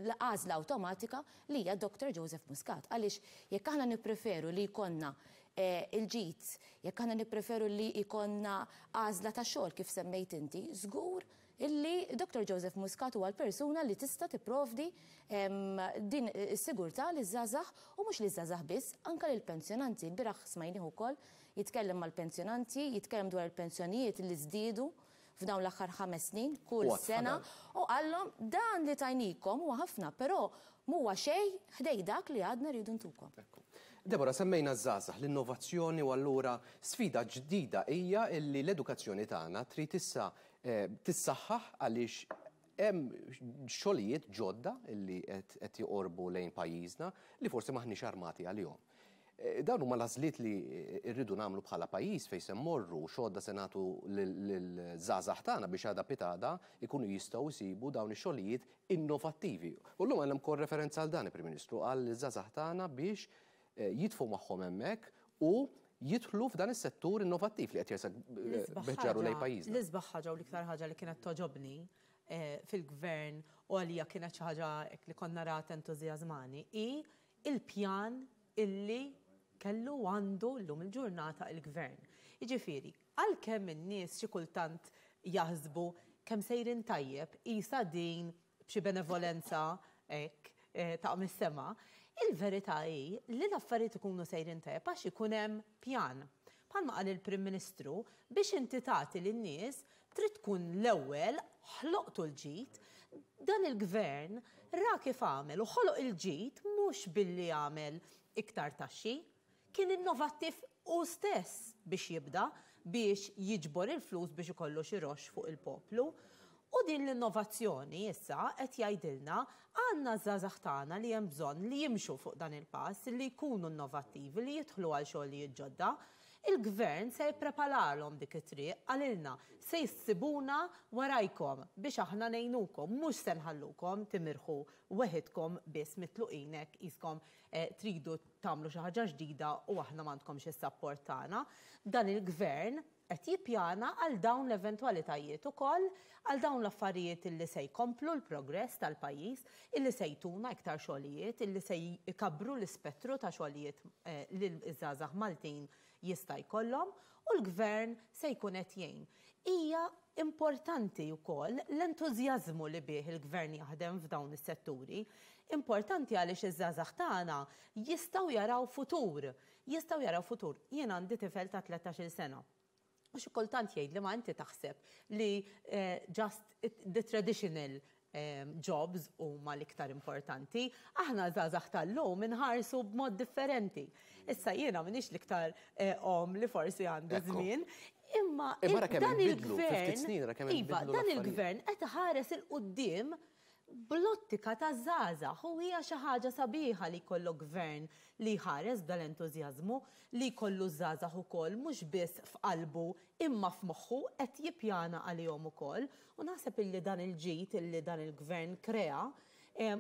l-għażla awtomatika li hija Dottor Joseph Muscat. Għaliex jekk aħna nippreferu li jkollna il-ġid, jekk aħna nippreferu li jkollna għażla ta' xogħol kif semmejt inti, żgur illi Dottor Joseph Muscat huwa l-persuna li tista' tipprovdi din is-sigurtà liż-żgħażagħ u mhux liż-żgħażagħ biss, anke lill-pensjonanti. Ilbieraħ smajnih ukoll jitkellem mal-pensjonanti, jitkellem dwar il-pensjonijiet li żdiedu f'dawn l-aħħar 5 snin kull sena u qallhom dan li tajnikom huwa ħafna, però m'huwa xejn ħdej dak li għadna rridu ntukom.
Deborah, semmejna ż-żgħażagħ, l-innovazzjoni u allura sfida ġdida hija illi l-edukazzjoni tagħna trid issa tissaħħaħ għaliex hemm xogħlijiet ġodda illi qed joqorbu lejn pajjiżna li forsi m'aħniex armati għalihom. Dawn huma l-għażliet li rridu nagħmlu bħala pajjiż fejn se mmorru u x'għodda se nagħtu lill-żgħażagħ tagħna biex għada pitgħada jkunu jistgħu jsibu dawn ix-xogħlijiet innovattivi. U llum għandna wkoll referenza għal dan il-Prim Ministru qal liż-żgħażagħ tagħna biex jitfgħu magħhom hemmhekk u jidħlu f'dan is-settur innovattiv li qed jersaq biħġaru lejn pajjiżna.
L-isbaħ ħaġa u l-iktar ħaġa li kienet togħġobni fil-gvern u għalija kienet xi ħaġa li konna naraha tentużjażmani hi il-pjan illi kellu u għandu llum il-ġurnata il-gvern. Jiġifieri, għalkemm in-nies xi kultant jaħsbu kemm sejrin tajjeb qisha din b'xi benevolenza hekk taqa' mis-sema, il-verità hi li l-affarijiet ikunu sejrin tajjeb għax ikun hemm pjan. Bħalma qal il-Prim Ministru, biex inti tagħti lin-nies trid tkun l-ewwel ħloqtu l-ġid. Dan il-Gvern ra kif għamel u ħoloq il-ġid mhux billi għamel iktar taxxi. Kien innovattiv hu stess biex jibda biex jiġbor il-flus biex ikollu xi roxx fuq il-poplu. U din l-innovazzjoni issa qed jgħidilna għandna ż-żgħażagħ tagħna li hemm bżonn li jimxu fuq dan il-pass, li jkunu innovattivi, li jidħlu għal xogħlijiet ġodda. Il-Gvern se jippreparalhom dik it-triq, qalilna, se ssibuna warajkom biex aħna ngħinukom, mhux se nħallukom timirħu weħidkom biss mitluqin hekk qiskom tridu tagħmlu xi ħaġa ġdida u aħna m'għandkomx is-sapport tagħna. Dan il-Gvern qed jippjana għal dawn l-eventwalitajiet ukoll, għal dawn l-affarijiet illi se jkomplu l-progress tal-pajjiż, illi se jtuna iktar xogħlijiet, illi se jkabbru l-ispettru ta' xogħlijiet li ż-żgħażagħ Maltin jista' jkollhom u l-Gvern se jkun qed jgħin. Hija importanti wkoll l-entużjażmu li bih il-Gvern jaħdem f'dawn is-setturi. Importanti għaliex iż-żgħażagħ tagħna jistgħu jaraw futur Jistgħu jaraw futur. Jien għandi tifel ta' 13-il sena. U xi kultant jgħidli ma inti taħseb li just the traditional jobs huma l-iktar importanti. Aħna żgħażagħ tal-lum inħarsu b'mod differenti. Issa jiena m'iniex l-iktar omm li forsi għandi żmien, imma dan il-gvern, iva, dan il-gvern qed iħares 'il quddiem Bl-ottika taż-żgħażagħ u hija xi ħaġa sabiħa li jkollok gvern li jħares b'dal-entużjażmu, li jkollu ż-żgħażagħ ukoll mhux biss f'qalbu imma f'moħħu qed jippjana għalihom ukoll u naħseb illi dan il-ġid illi dan il-gvern krea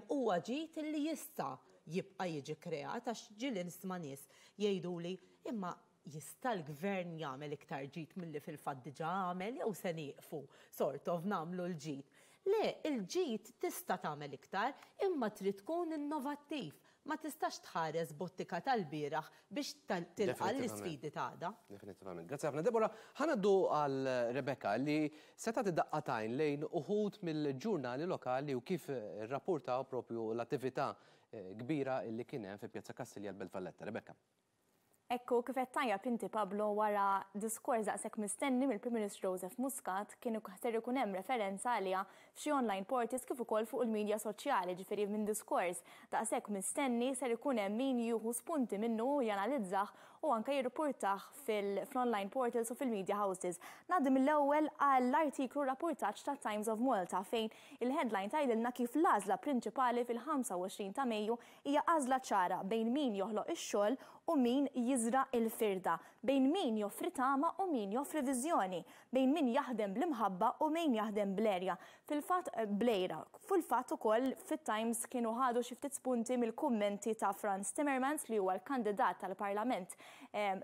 huwa ġid illi jista' jibqa' jiġi kreat għax ġieli nisma' nies jgħiduli imma Jista' l-Gvern jagħmel iktar ġid milli fil-fatt diġà għamel jew se nieqfu, sort of, nagħmlu l-ġid? Le, il-ġid tista' tagħmel iktar, imma trid tkun innovattiv. Ma tistax tħares b'ottika tal-bieraħ biex tilqa' l-isfidi ta' għada.
Definitivament. Grazzi ħafna Deborah. Ħa ngħaddu għal Rebecca li se tagħti daqqa t'għajn lejn uħud mill-ġurnali lokali u kif irrappurtaw propju l-attività kbira li kien hemm fi Pjazza Kastilja l-Belt Valletta. Rebecca.
Hekk hu, kif għedt tajjeb inti Pablo, wara diskors daqshekk mistenni mill-Prim Ministru Joseph Muscat kien ser ikun hemm referenza għaliha f'xi online portals kif ukoll fuq il-media soċjali, ġifieri minn diskors daqshekk mistenni ser ikun hemm min jieħu spunti minnu u janalizzah u anke jirrapportah fil-online portals u fil-media houses. Ngħaddi mill-ewwel għall-artiklu rapportaġġ ta' Times of Malta fejn il-headline tgħidilna kif l-għażla prinċipali fil-25 ta' Mejju hija għażla ċara bejn min joħloq ix-xogħol u min jiżra' l-firda, bejn min joffri tama u min joffri viżjoni, bejn min jaħdem bl-imħabba u min jaħdem bl-għerja. Fil-fatt bl-għira. Fil-fatt ukoll fit-Times kienu ħadu xi ftit spunti mill-kummenti ta' Frans Timmermans li huwa l-kandidat tal-Parlament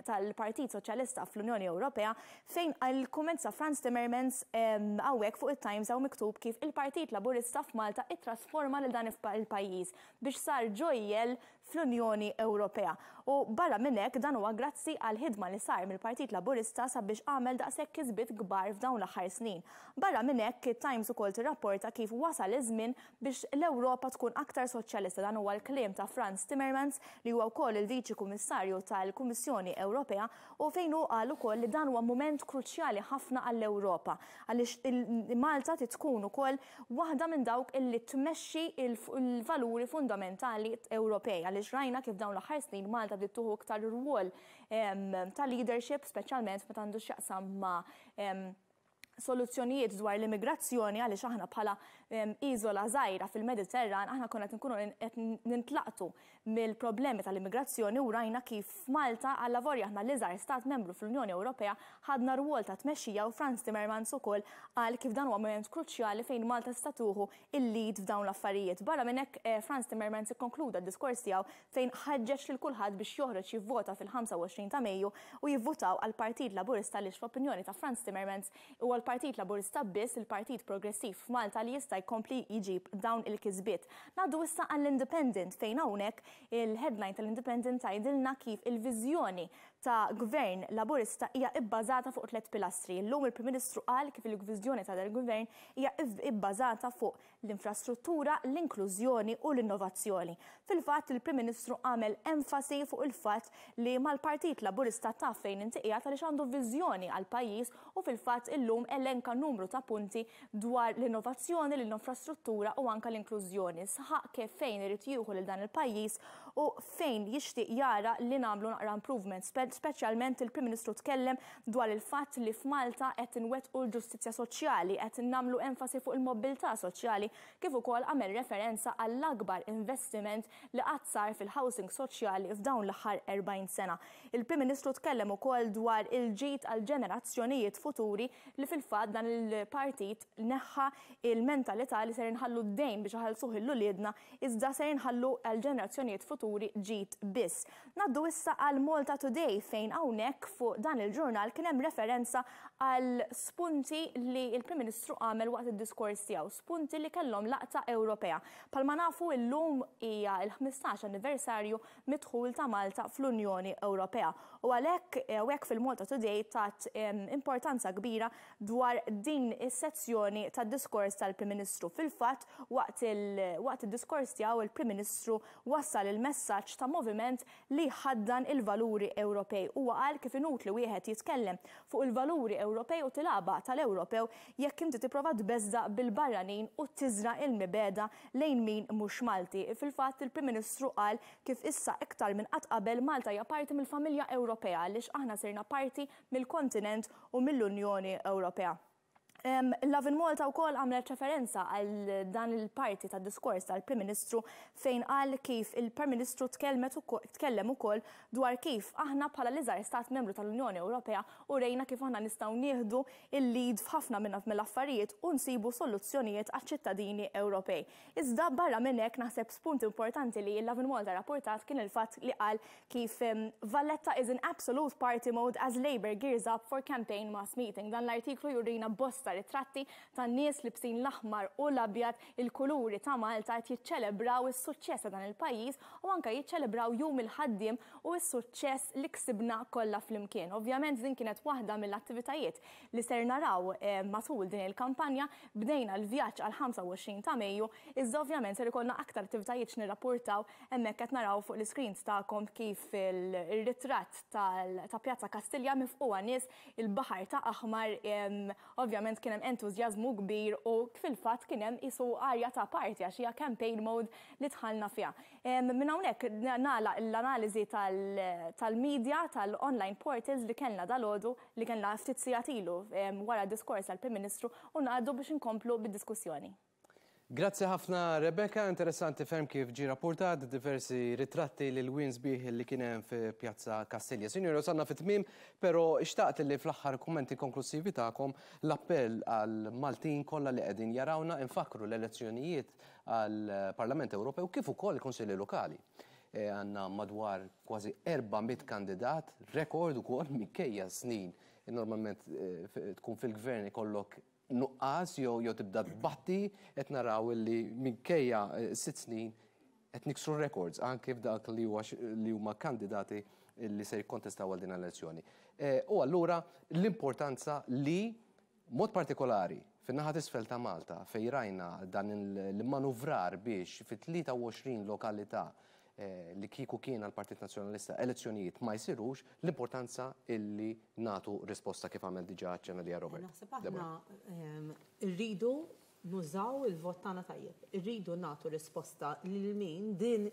tal-Partit Soċjalista fl-Unjoni Ewropea fejn il-kumment ta' Frans Timmermans hawnhekk fuq it-Times hawn miktub kif il-Partit Laburista f'Malta ittrasforma lil dan il-pajjiż biex sar ġojjell fl-Unjoni Ewropea. U barra minn hekk dan huwa grazzi għall-ħidma li sar mill-Partit Laburista sabiex għamel daqshekk kisbiet kbar f'dawn l-aħħar snin. Barra minn hekk it-Times ukoll tirrapporta kif wasal iż-żmien biex l-Ewropa tkun aktar soċjalista. Dan huwa l-kliem ta' Frans Timmermans li huwa wkoll il-Viċi Kummissarju tal-Kummissjoni Ewropea u fejn hu qal ukoll li dan huwa mument kruċjali ħafna għall-Ewropa għaliex Malta trid tkun ukoll waħda minn dawk illi tmexxi l-valuri fundamentali Ewropej għaliex rajna kif dawn l-aħħar snin Malta bdiet tieħu iktar rwol ta' leadership speċjalment meta għandu x'jaqsam ma' soluzzjonijiet dwar l-immigrazzjoni għaliex aħna bħala iżola żgħira fil-Mediterran aħna konna qed nkunu qed nintlaqtu mill-problemi tal-immigrazzjoni u rajna kif f'Malta allavolja aħna l-iżgħar stat membru fl-Unjoni Ewropea ħadna rwol ta' tmexxija u Frans Timmermans ukoll qal kif dan huwa mument kruċjali fejn Malta tista' tieħu l-lead f'dawn l-affarijiet. Barra minn hekk Frans Timmermans ikkonkluda d-diskors tiegħu fejn ħeġġeġ lil kulħadd biex joħroġ jivvota fil-25 ta' Mejju u jivvutaw għall-Partit Laburista għaliex fl-opinjoni ta' Frans Timmermans huwa l-Partit Laburista biss il-partit progressiv f'Malta li jista' jkompli jġib dawn il-kisbiet. Ngħaddu issa għall-Independent fejn hawnhekk il-headline tal-Independent tgħidilna kif il-viżjoni ta' Gvern Laburista hija ibbażata fuq tlett pilastri. Illum il-Prim Ministru qal kif il-viżjoni ta' dal-Gvern hija ibbażata fuq l-infrastruttura, l-inklużjoni u l-innovazzjoni. Fil-fatt, il-Prim Ministru għamel enfasi fuq il-fatt li mal-Partit Laburista taf fejn inti qiegħed għaliex għandu viżjoni għall-pajjiż u fil-fatt illum elenka numru ta' punti dwar l-innovazzjoni, l-infrastruttura u anke l-inklużjoni. Saħaq kif fejn irid jieħu lil dan il-pajjiż u fejn jixtieq jara li nagħmlu naqra improvement. Speċjalment il-Prim Ministru tkellem dwar il-fatt li f'Malta qed inwettqu l-ġustizzja soċjali, qed nagħmlu enfasi fuq il-mobbiltà soċjali kif ukoll għamel referenza għall-akbar investiment li qatt sar fil-housing soċjali f'dawn l-aħħar 40 sena. Il-Prim Ministru tkellem ukoll dwar il-ġid għall-ġenerazzjonijiet futuri li fil-fatt dan il-partit neħħa il-mentalità li ser inħallu d-dejn biex iħallsuh lil uliedna iżda ser inħallu għall-ġenerazzjonijiet futuri ġid biss. Ngħaddu issa għal Malta Today fejn hawnhekk fuq dan il-ġurnal kien hemm referenza għal spunti li l-Prim Ministru għamel waqt id-diskors tiegħu, spunti li kellhom laqta Ewropea. Bħalma nafu illum hija l-15 anniversarju mid-dħul ta' Malta fl-Unjoni Ewropea u għalhekk hawnhekk fil-Malta Today tat importanza kbira dwar din is-sezzjoni tad-diskors tal-Prim Ministru. Fil-fatt waqt id-diskors tiegħu il-Prim Ministru wassal il-messaġġ ta' moviment li jħaddan il-valuri Ewropej. Huwa qal kif inutli wieħed jitkellem fuq il-valuri Ewropej u tilgħabha tal-Ewropew jekk inti tipprova tbeżża' bil-barranin u tiżra' il-mibegħda lejn min mhux Malti. Fil-fatt il-Prim Ministru qal kif issa iktar minn qatt qabel Malta hija parti mill-familja Ewropea għaliex aħna sirna parti mill-kontinent u mill-Unjoni Ewropea. Lovin Malta wkoll għamlet referenza għal dan il-parti tad-diskors tal-Prim Ministru fejn qal kif il-Prim Ministru tkellem ukoll dwar kif aħna bħala l-iżgħar stat membru tal-Unjoni Ewropea urejna kif aħna nistgħu nieħdu l-lead f'ħafna mill-affarijiet u nsibu soluzzjonijiet għaċ-ċittadini Ewropej. Iżda barra minn hekk naħseb spunt importanti li Lovin Malta rapportat kien il-fatt li qal kif Valletta is in absolute party mode as Labour gears up for campaign mass meeting. Dan l-artiklu jurina bosta ritratti ta' nies libsin l-aħmar u l-abjad, il-kuluri ta' Malta qed jiċċelebraw is-suċċess ta' dan il-pajjiż u anke jiċċelebraw Jum il-Ħaddiem u s-suċċess li ksibna kollha flimkien. Ovvjament din kienet waħda mill-attivitajiet li ser naraw matul din il-kampanja. Bdejna l-vjaġġ għall-25 ta' Mejju, iżda ovvjament ser ikollna aktar attivitajiet x'nirrappurtaw. Hemmhekk qed naraw fuq l-iscreens tagħkom kif il-ritratt ta' Pjazza Kastilja mifqugħa nies, il-baħar ta' aħmar, ovvjament verament kien hemm entużjażmu kbir u fil-fatt kien hemm qisu arja ta' party għax hija campaign mode li dħalna fiha. Minn hawnhekk nagħlaq l-analiżi tal-media tal-online portals li kellna dalgħodu li kellna ftit sigħat ilu wara d-diskors tal-Prim Ministru u ngħaddu biex inkomplu bid-diskussjoni.
Grazzi ħafna Rebecca, interessanti ferm kif ġie rappurtat diversi ritratti lil wien sbieħ li kien hemm fi Pjazza Kastilja. Sinjuri wasalna fit-tmiem, però xtaqt li fl-aħħar kummenti konklusivi tagħkom l-appell għal Maltin kollha li qegħdin jarawna infakkru l-elezzjonijiet għall-Parlament Ewropew kif ukoll il-Kunsilli Lokali. Għandna madwar kważi 400 kandidat, rekord ukoll minkejja snin normalment tkun fil-gvern ikollok nuqqas jew jew tibda tbatti qed naraw li minkejja sitt snin qed niksru records anke f'dak li huwa li huma kandidati li se jikkontestaw għal din l-elezzjoni. U allura l-importanza li mod partikolari fin-naħa t'isfel ta' Malta fejn rajna dan l-immanuvrar biex fi 23 lokalità li kieku kien għall-Partit Nazzjonalista elezzjonijiet ma jsirux, l-importanza illi nagħtu risposta kif għamel diġà aċċenna liha Robert.
Naħseb aħna rridu nużaw il-vot tagħna tajjeb. Irridu nagħtu risposta lil min din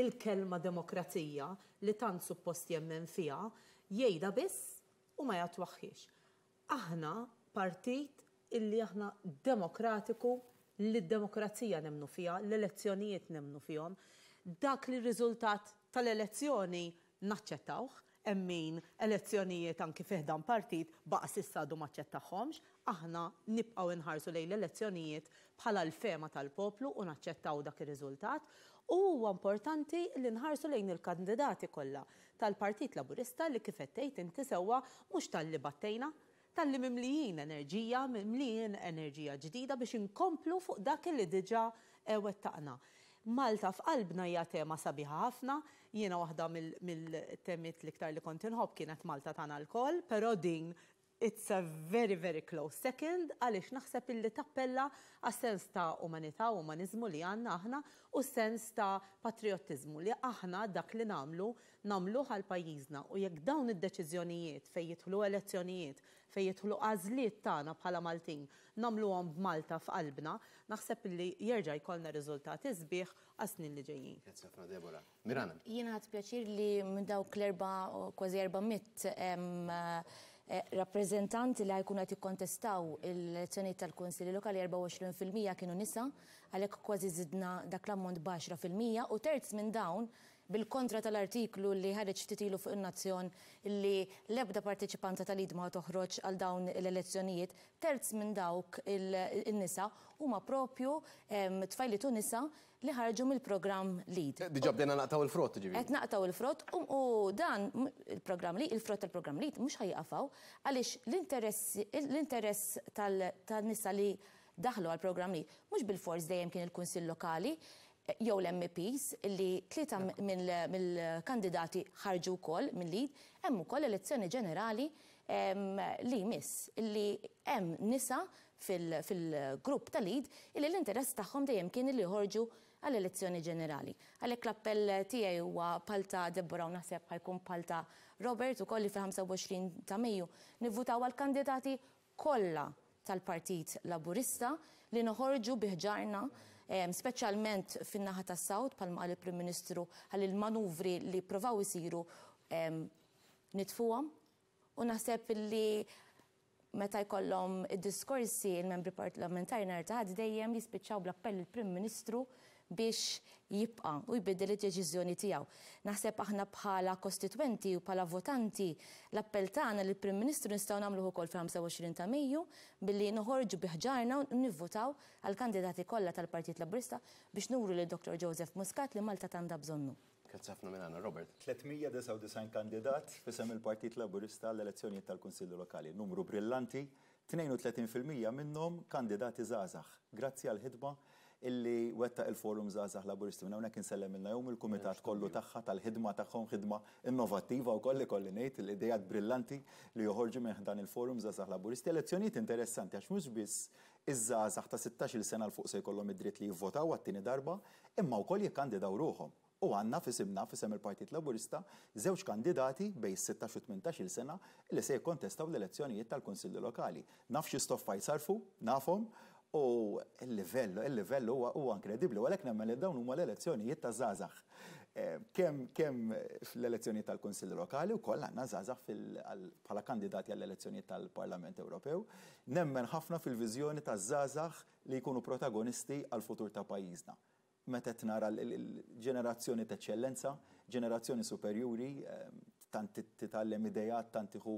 il-kelma demokrazija li tant suppost jemmen fiha jgħidha biss u ma jattwaħħiex. Aħna partit illi aħna demokratiku, li d-demokrazija nemmnu fiha, l-elezzjonijiet nemmnu fihom. Dak li r-riżultat tal-elezzjoni naċċettawh, hemm min elezzjonijiet anki fi ħdan partit baqa' s'issa għadu m'aċċettahomx, aħna nibqgħu nħarsu lejn l-elezzjonijiet bħala l-fehma tal-poplu u naċċettaw dak ir-riżultat. U huwa importanti li nħarsu lejn il-kandidati kollha tal-Partit Laburista li kif qed tgħid inti sewwa mhux talli battejna, talli mimlijin enerġija, mimlijin enerġija ġdida biex inkomplu fuq dak li diġà wettaqna. Malta f'qalbna hija tema sabiħa ħafna, jiena waħda mill-temiet l-iktar li kont inħobb kienet Malta tagħna lkoll, però din It's a very very close second għaliex naħseb illi tappella għas-sens ta' umanità u umaniżmu li għandna aħna u s-sens ta' patrijottiżmu li aħna dak li nagħmlu nagħmluh għal pajjiżna u jekk dawn id-deċiżjonijiet fejn jidħlu elezzjonijiet, fejn jidħlu għażliet tagħna bħala Maltin nagħmluhom b'Malta f'qalbna, naħseb illi jerġa' jkollna riżultati sbieħ għas-snin li ġejjin.
Grazzi ħafna Deborah. Mirana.
Jiena ħadt pjaċir li minn dawk l-erba' kważi 400 rappreżentanti li ħajkunu qed jikkontestaw l-elezzjonijiet tal-Kunsilli Lokali 24% kienu nisa, għalhekk kważi żidna dak l-ammont b'10% u terz minn dawn bil-kontra tal-artiklu li ħareġ ftit ilu fuq in-Nazzjon li l-ebda parteċipanta tal-id ma toħroġ għal dawn l-elezzjonijiet, terz minn dawk in-nisa huma propju tfajliet u nisa li ħarġu mill-programm LEAD.
Diġà bdejna naqtgħu l-frott, jiġifieri.
Qed naqtgħu l-frott u dan il-programm LEAD, il-frott tal-programm LEAD mhux ħa jieqaf hawn għaliex l-interess l-interess tan-nisa li daħlu għall-programm LEAD mhux bilfors dejjem kien il-Kunsill Lokali jew l-MEPs li tlieta mill-kandidati ħarġu wkoll minn LEAD, hemm ukoll elezzjoni ġenerali li jmiss li hemm nisa fil-grupp ta' LEAD illi l-interess tagħhom dejjem kien illi joħorġu għall-elezzjoni ġenerali. Għalhekk l-appell tiegħi huwa bħal ta' Deborah u naħseb ħa jkun bħal ta' Robert ukoll li fil-25 ta' Mejju nivvutaw għall-kandidati kollha tal-Partit Laburista li noħorġu bi ħġarna speċjalment fin-naħa tas-South bħalma qal il-Prim Ministru ħalli l-manuvri li pprovaw isiru nitfuhom u naħseb illi Meta jkollhom id-diskorsi il-membri parlamentari nhar ta' Ħadd dejjem jispiċċaw bl-appell lill-Prim Ministru biex jibqa' u jbiddel id-deċiżjoni tiegħu. Naħseb aħna bħala kostitwenti u bħala votanti l-appell tagħna lill-Prim Ministru nistgħu nagħmluh ukoll fil-25 ta' Mejju billi noħorġu bi ħġarna u nivvutaw għall-kandidati kollha tal-Partit Laburista biex nuru lil Dottor Joseph Muscat li Malta t'għandha bżonnu.
Grazzi ħafna minn għandna, Robert.
399 kandidat f'isem il-Partit Laburista għall-elezzjonijiet tal-Kunsilli Lokali. Numru brillanti, 32% minnhom kandidati żgħażagħ. Grazzi għall-ħidma illi wettaq il-Forum Żgħażagħ Laburisti. Minn hawnhekk insellem lil Naomi u l-kumitat kollu tagħha tal-ħidma tagħhom, ħidma innovattiva wkoll ikolli ngħid, l-ideat brillanti li joħorġu minn ħdan il-Forum Żgħażagħ Laburisti. Elezzjonijiet interessanti għax mhux biss iż-żgħażagħ ta' sittax-il sena 'l fuq se jkollhom id-dritt li jivvotaw għat-tieni darba, imma wkoll jikkandidaw ruħhom. U għandna f'isimna, f'isem il-Partit Laburista, żewġ kandidati bejn is-sittax u tmintax-il sena li se jikkontestaw l-elezzjonijiet tal-Kunsilli Lokali. Naf xi stoffa jsarrfu, nafhom, u l-livell, il-livell huwa huwa inkredibbli u għalhekk nemmen li dawn huma l-elezzjonijiet taż-żgħażagħ. Kemm kemm fl-elezzjonijiet tal-Kunsilli Lokali wkoll għandna żgħażagħ fil bħala kandidati għall-elezzjonijiet tal-Parlament Ewropew. Nemmen ħafna fil-viżjoni taż-żgħażagħ li jkunu protagonisti għall-futur ta' pajjiżna. Meta qed nara l-ġenerazzjoni t'eċċellenza, ġenerazzjoni superjuri, tant titgħallem ideat, tant tieħu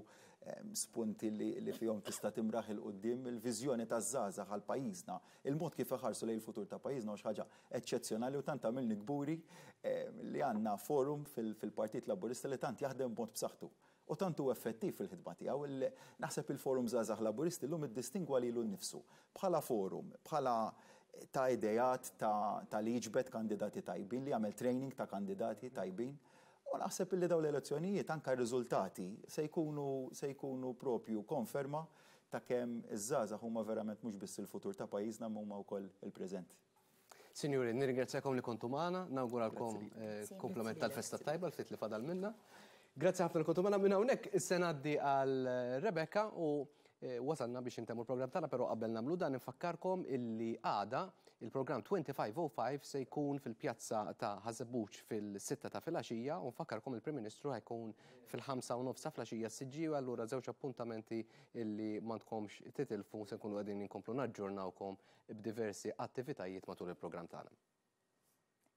spunti li fihom tista' timraħ 'il quddiem, il-viżjoni taż-żgħażagħ għal pajjiżna, il-mod kif iħarsu lejn il-futur ta' pajjiżna huwa xi ħaġa eċċezzjonali u tant tagħmilni kburi li għandna forum fil-Partit Laburista li tant jaħdem b'mod b'saħħtu. U tant hu effettiv fil-ħidma tiegħu li naħseb il-Forum Żgħażagħ Laburisti llum iddistingwa lilu nnifsu bħala forum, bħala ta' ideat, ta' li jiġbed kandidati tajbin, li jagħmel training ta' kandidati tajbin. U naħseb illi dawn l-elezzjonijiet anke r-riżultati se jkunu se jkunu propju konferma ta' kemm iż-żgħażagħ huma verament mhux biss il-futur ta' pajjiżna imma huma wkoll il-preżent.
Sinjuri, nirringrazzjakom li kontu magħna, nawguralkom kumplament tal-festa tajba l-ftit li fadal minna. Grazzi ħafna li kontu magħna minn hawnhekk se ngħaddi għal Rebecca u wasalna biex intemmu l-programm tagħna, però qabel nagħmlu dan infakkarkom illi għada il-programm 2505 se jkun fil-pjazza ta' Ħaż-Żebbuġ fil-sitta ta' filgħaxija u nfakkarkom il-Prim Ministru ħajkun fil-ħamsa u nofs ta' filgħaxija s-Siġġiewi allura żewġ appuntamenti illi m'għandkomx titilfu se nkunu qegħdin inkomplu naġġornawkom b'diversi attivitajiet matul il-programm tagħna.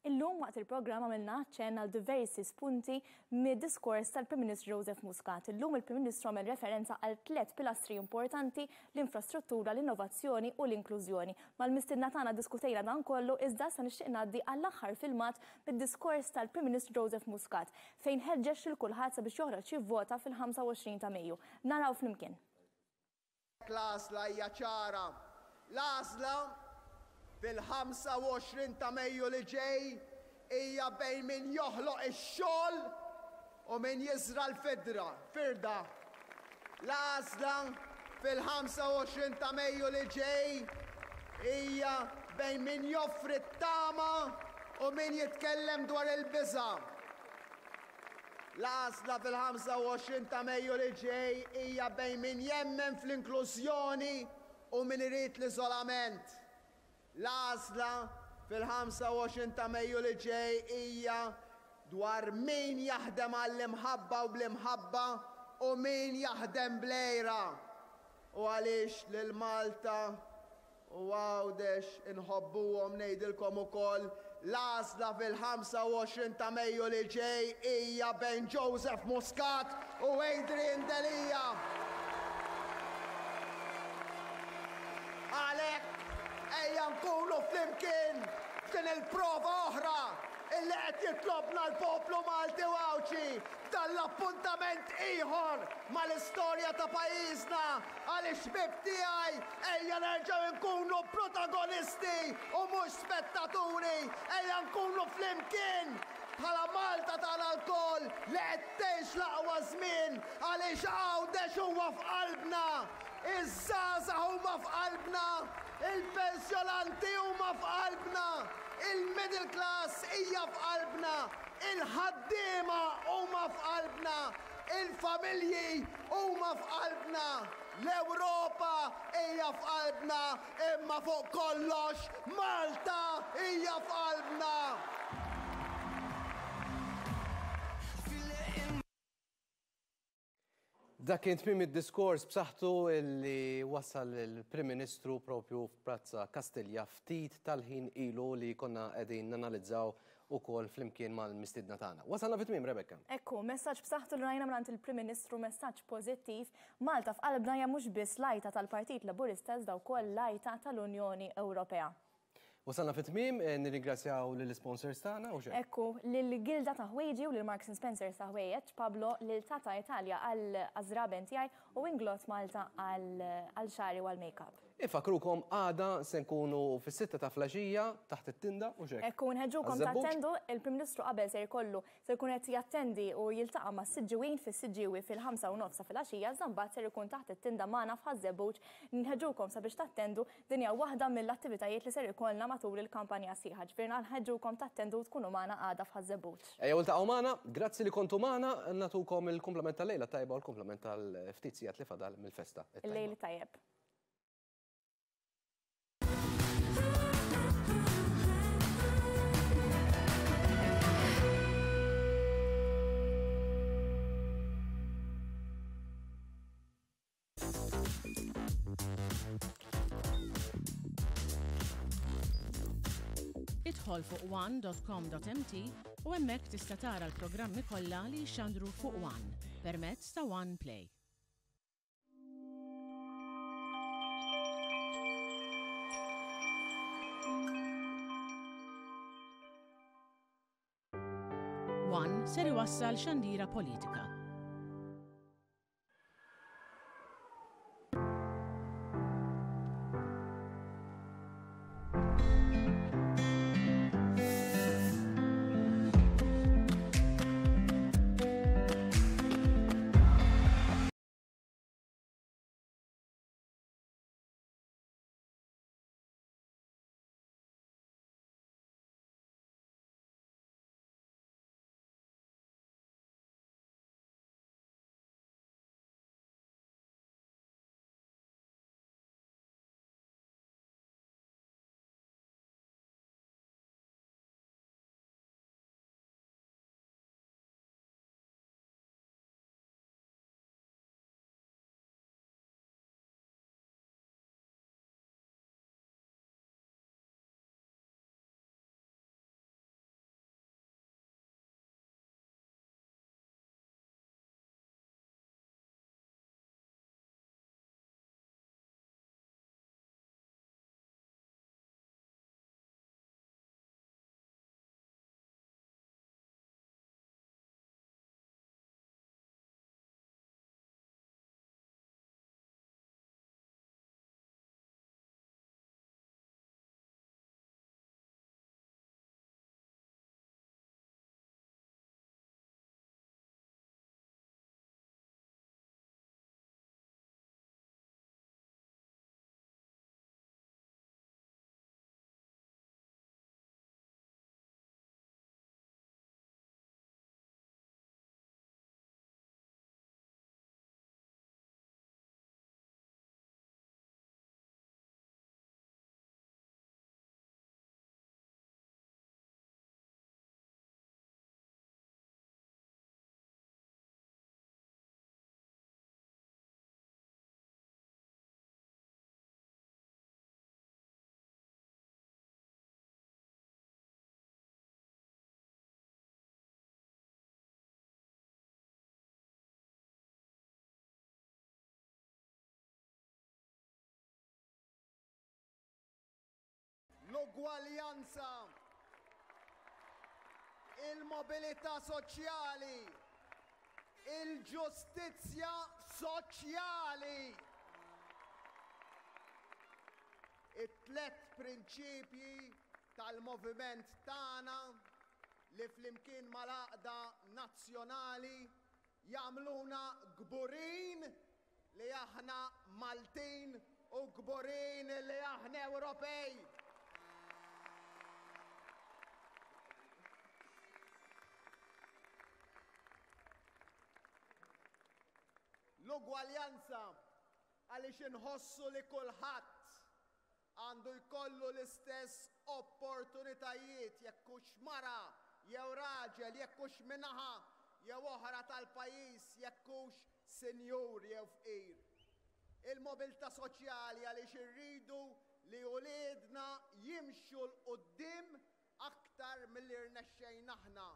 Illum waqt il-programm għamilna aċċenn għal diversi spunti mid-diskors tal-Prim Ministru Joseph Muscat. Illum il-Prim Ministru għamel referenza għal tliet pilastri importanti, l-infrastruttura, l-innovazzjoni u l-inklużjoni. Mal-mistiedna tagħna ddiskutejna dan kollu iżda issa nixtieq ngħaddi għall-aħħar filmat mid-diskors tal-Prim Ministru Joseph Muscat fejn ħeġġeġ lil kulħadd sabiex joħroġ jivvota fil-25 ta' Mejju. Naraw flimkien.
L-għażla hija ċara. L-għażla fil-25 ta' Mejju li ġej hija bejn min joħloq ix-xogħol u min jiżra' l-fidra, firda. L-għażla fil-25 ta' Mejju li ġej hija bejn min joffri t-tama u min jitkellem dwar il-biża'. L-għażla fil-25 ta' Mejju li ġej hija bejn min jemmen fl-inklużjoni u min irid l-iżolament. L-għażla fil-25 ta' Mejju li ġej hija dwar min jaħdem għall-imħabba u bl-imħabba u min jaħdem bl-għira. U għaliex lil Malta U Għawdex inħobbuhom ngħidilkom ukoll l-għażla fil-25 ta' Mejju li ġej hija bejn Joseph Muscat u Adrian Delia. Għalhekk ejja nkunu flimkien f'din il-prova oħra illi qed jitlobna l-poplu Malti u Għawdxi f'dan l-appuntament ieħor mal-istorja ta' pajjiżna għaliex ħbieb tiegħi Ejja nerġgħu nkunu protagonisti u mhux spettaturi, ejja nkunu flimkien bħala Malta tagħna lkoll li qed tgħix l-aqwa żmien għaliex Għawdex huwa f'qalbna, iż-żgħażagħ huma f'qalbna, il-pensjonanti huma f'qalbna, il-middle class hija f'qalbna, il-ħaddiema huma f'qalbna, il-familji huma f'qalbna. L-Ewropa hija f'qalbna imma fuq kollox Malta hija f'qalbna!
Dak kien tmiem id-diskors b'saħħtu li wassal il-Prim Ministru propju f'Prazza Kastilja ftit tal-ħin ilu li konna qegħdin nanalizzaw ukoll flimkien mal-mistiedna tagħna. Wasalna fi tmiem, Rebecca.
Ekku, messaġġ b'saħħtu li rajna mingħand il-Prim Ministru, messaġġ pożittiv. Malta f'qalbna hija mhux biss l-għajta tal-Partit Laburista iżda wkoll l-għajta tal-Unjoni Ewropea.
Wasalna fi tmiem, nirringrazzjaw lill-isponsors tagħna u xejn.
Ekku, lill-Gilda ta' Ħwejġi u lil Marks and Spencer ta' Ħwejjeġ, Pablo, lil Tata Italia għal għaż-żraben tiegħi u Inglot Malta għal xagħri u għall-makeup.
Infakkrukom għada se nkunu fis-sitta ta' flaxija taħt it-tinda u x'hekk.
Ekku, nħeġġukom tattendu, il-Prim Ministru qabel ser jkollu ser ikun qed jattendi u jiltaqa' mas-Siġġiwin fis-Siġġiewi fil-ħamsa u nofs ta' filgħaxija iżda mbagħad ser ikun taħt it-tinda magħna f'Ħaż-Żebbuġ. Nħeġġukom sabiex tattendu, din hija waħda mill-attivitajiet li ser ikollna. matul il-kampanja sħiħa. Ġifieri nħeġġukom tattendu tkunu magħna għada f'Ħaż-Żebbuġ.
Ejjew iltaqgħu magħna, grazzi li kontu magħna, nagħtukom il-kumplament tal-lejla tajba u l-kumplament tal-ftit sigħat li fadal mill-festa.
Il-lejl tajjeb.
Idħol fuq one.com.mt u hemmhekk tista' tara l-programmi kollha li jixxandru fuq One permezz ta' One Play. One ser iwassal xandira politika.
L-ugwaljanza, il-mobilità soċjali, il-ġustizzja soċjali. It-tlet prinċipji tal-moviment tagħna li flimkien mal-għaqda nazzjonali jagħmluna kburin li aħna Maltin u kburin li aħna Ewropej. L-ugwaljanza għaliex inħossu li kulħadd għandu jkollu l-istess opportunitajiet jekk hux mara jew raġel, jekk hux minn naħa jew oħra tal-pajjiż, jekk hux sinjur jew fqir. Il-mobilità soċjali għaliex irridu li uliedna jimxu 'l quddiem aktar milli rnexxejna aħna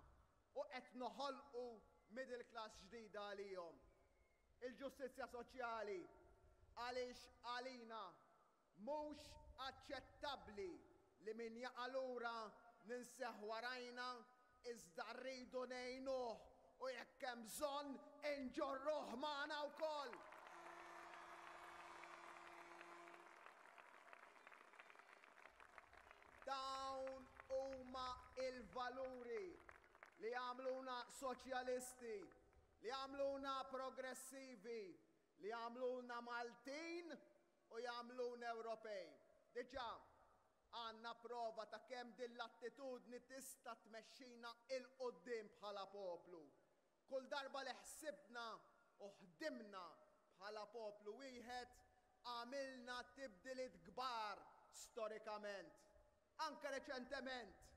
u qed noħolqu middle class ġdida għalihom. Il-ġustizzja soċjali għaliex għalina Mhux aċċettabbli li min jaqa' lura ninseh warajna iżda rridu ngħinuh u jekk hemm bżonn inġorruh magħna wkoll. Dawn huma l-valuri li jagħmluna soċjalisti, li jagħmluna progressivi, li jagħmluna Maltin u jagħmluna Ewropej. Diġà, Għandna prova ta' kemm din l-attitudni tista' tmexxina 'l quddiem bħala poplu. Kull darba li ħsibna u ħdimna bħala poplu wieħed, għamilna tibdiliet kbar storikament. Anke reċentement.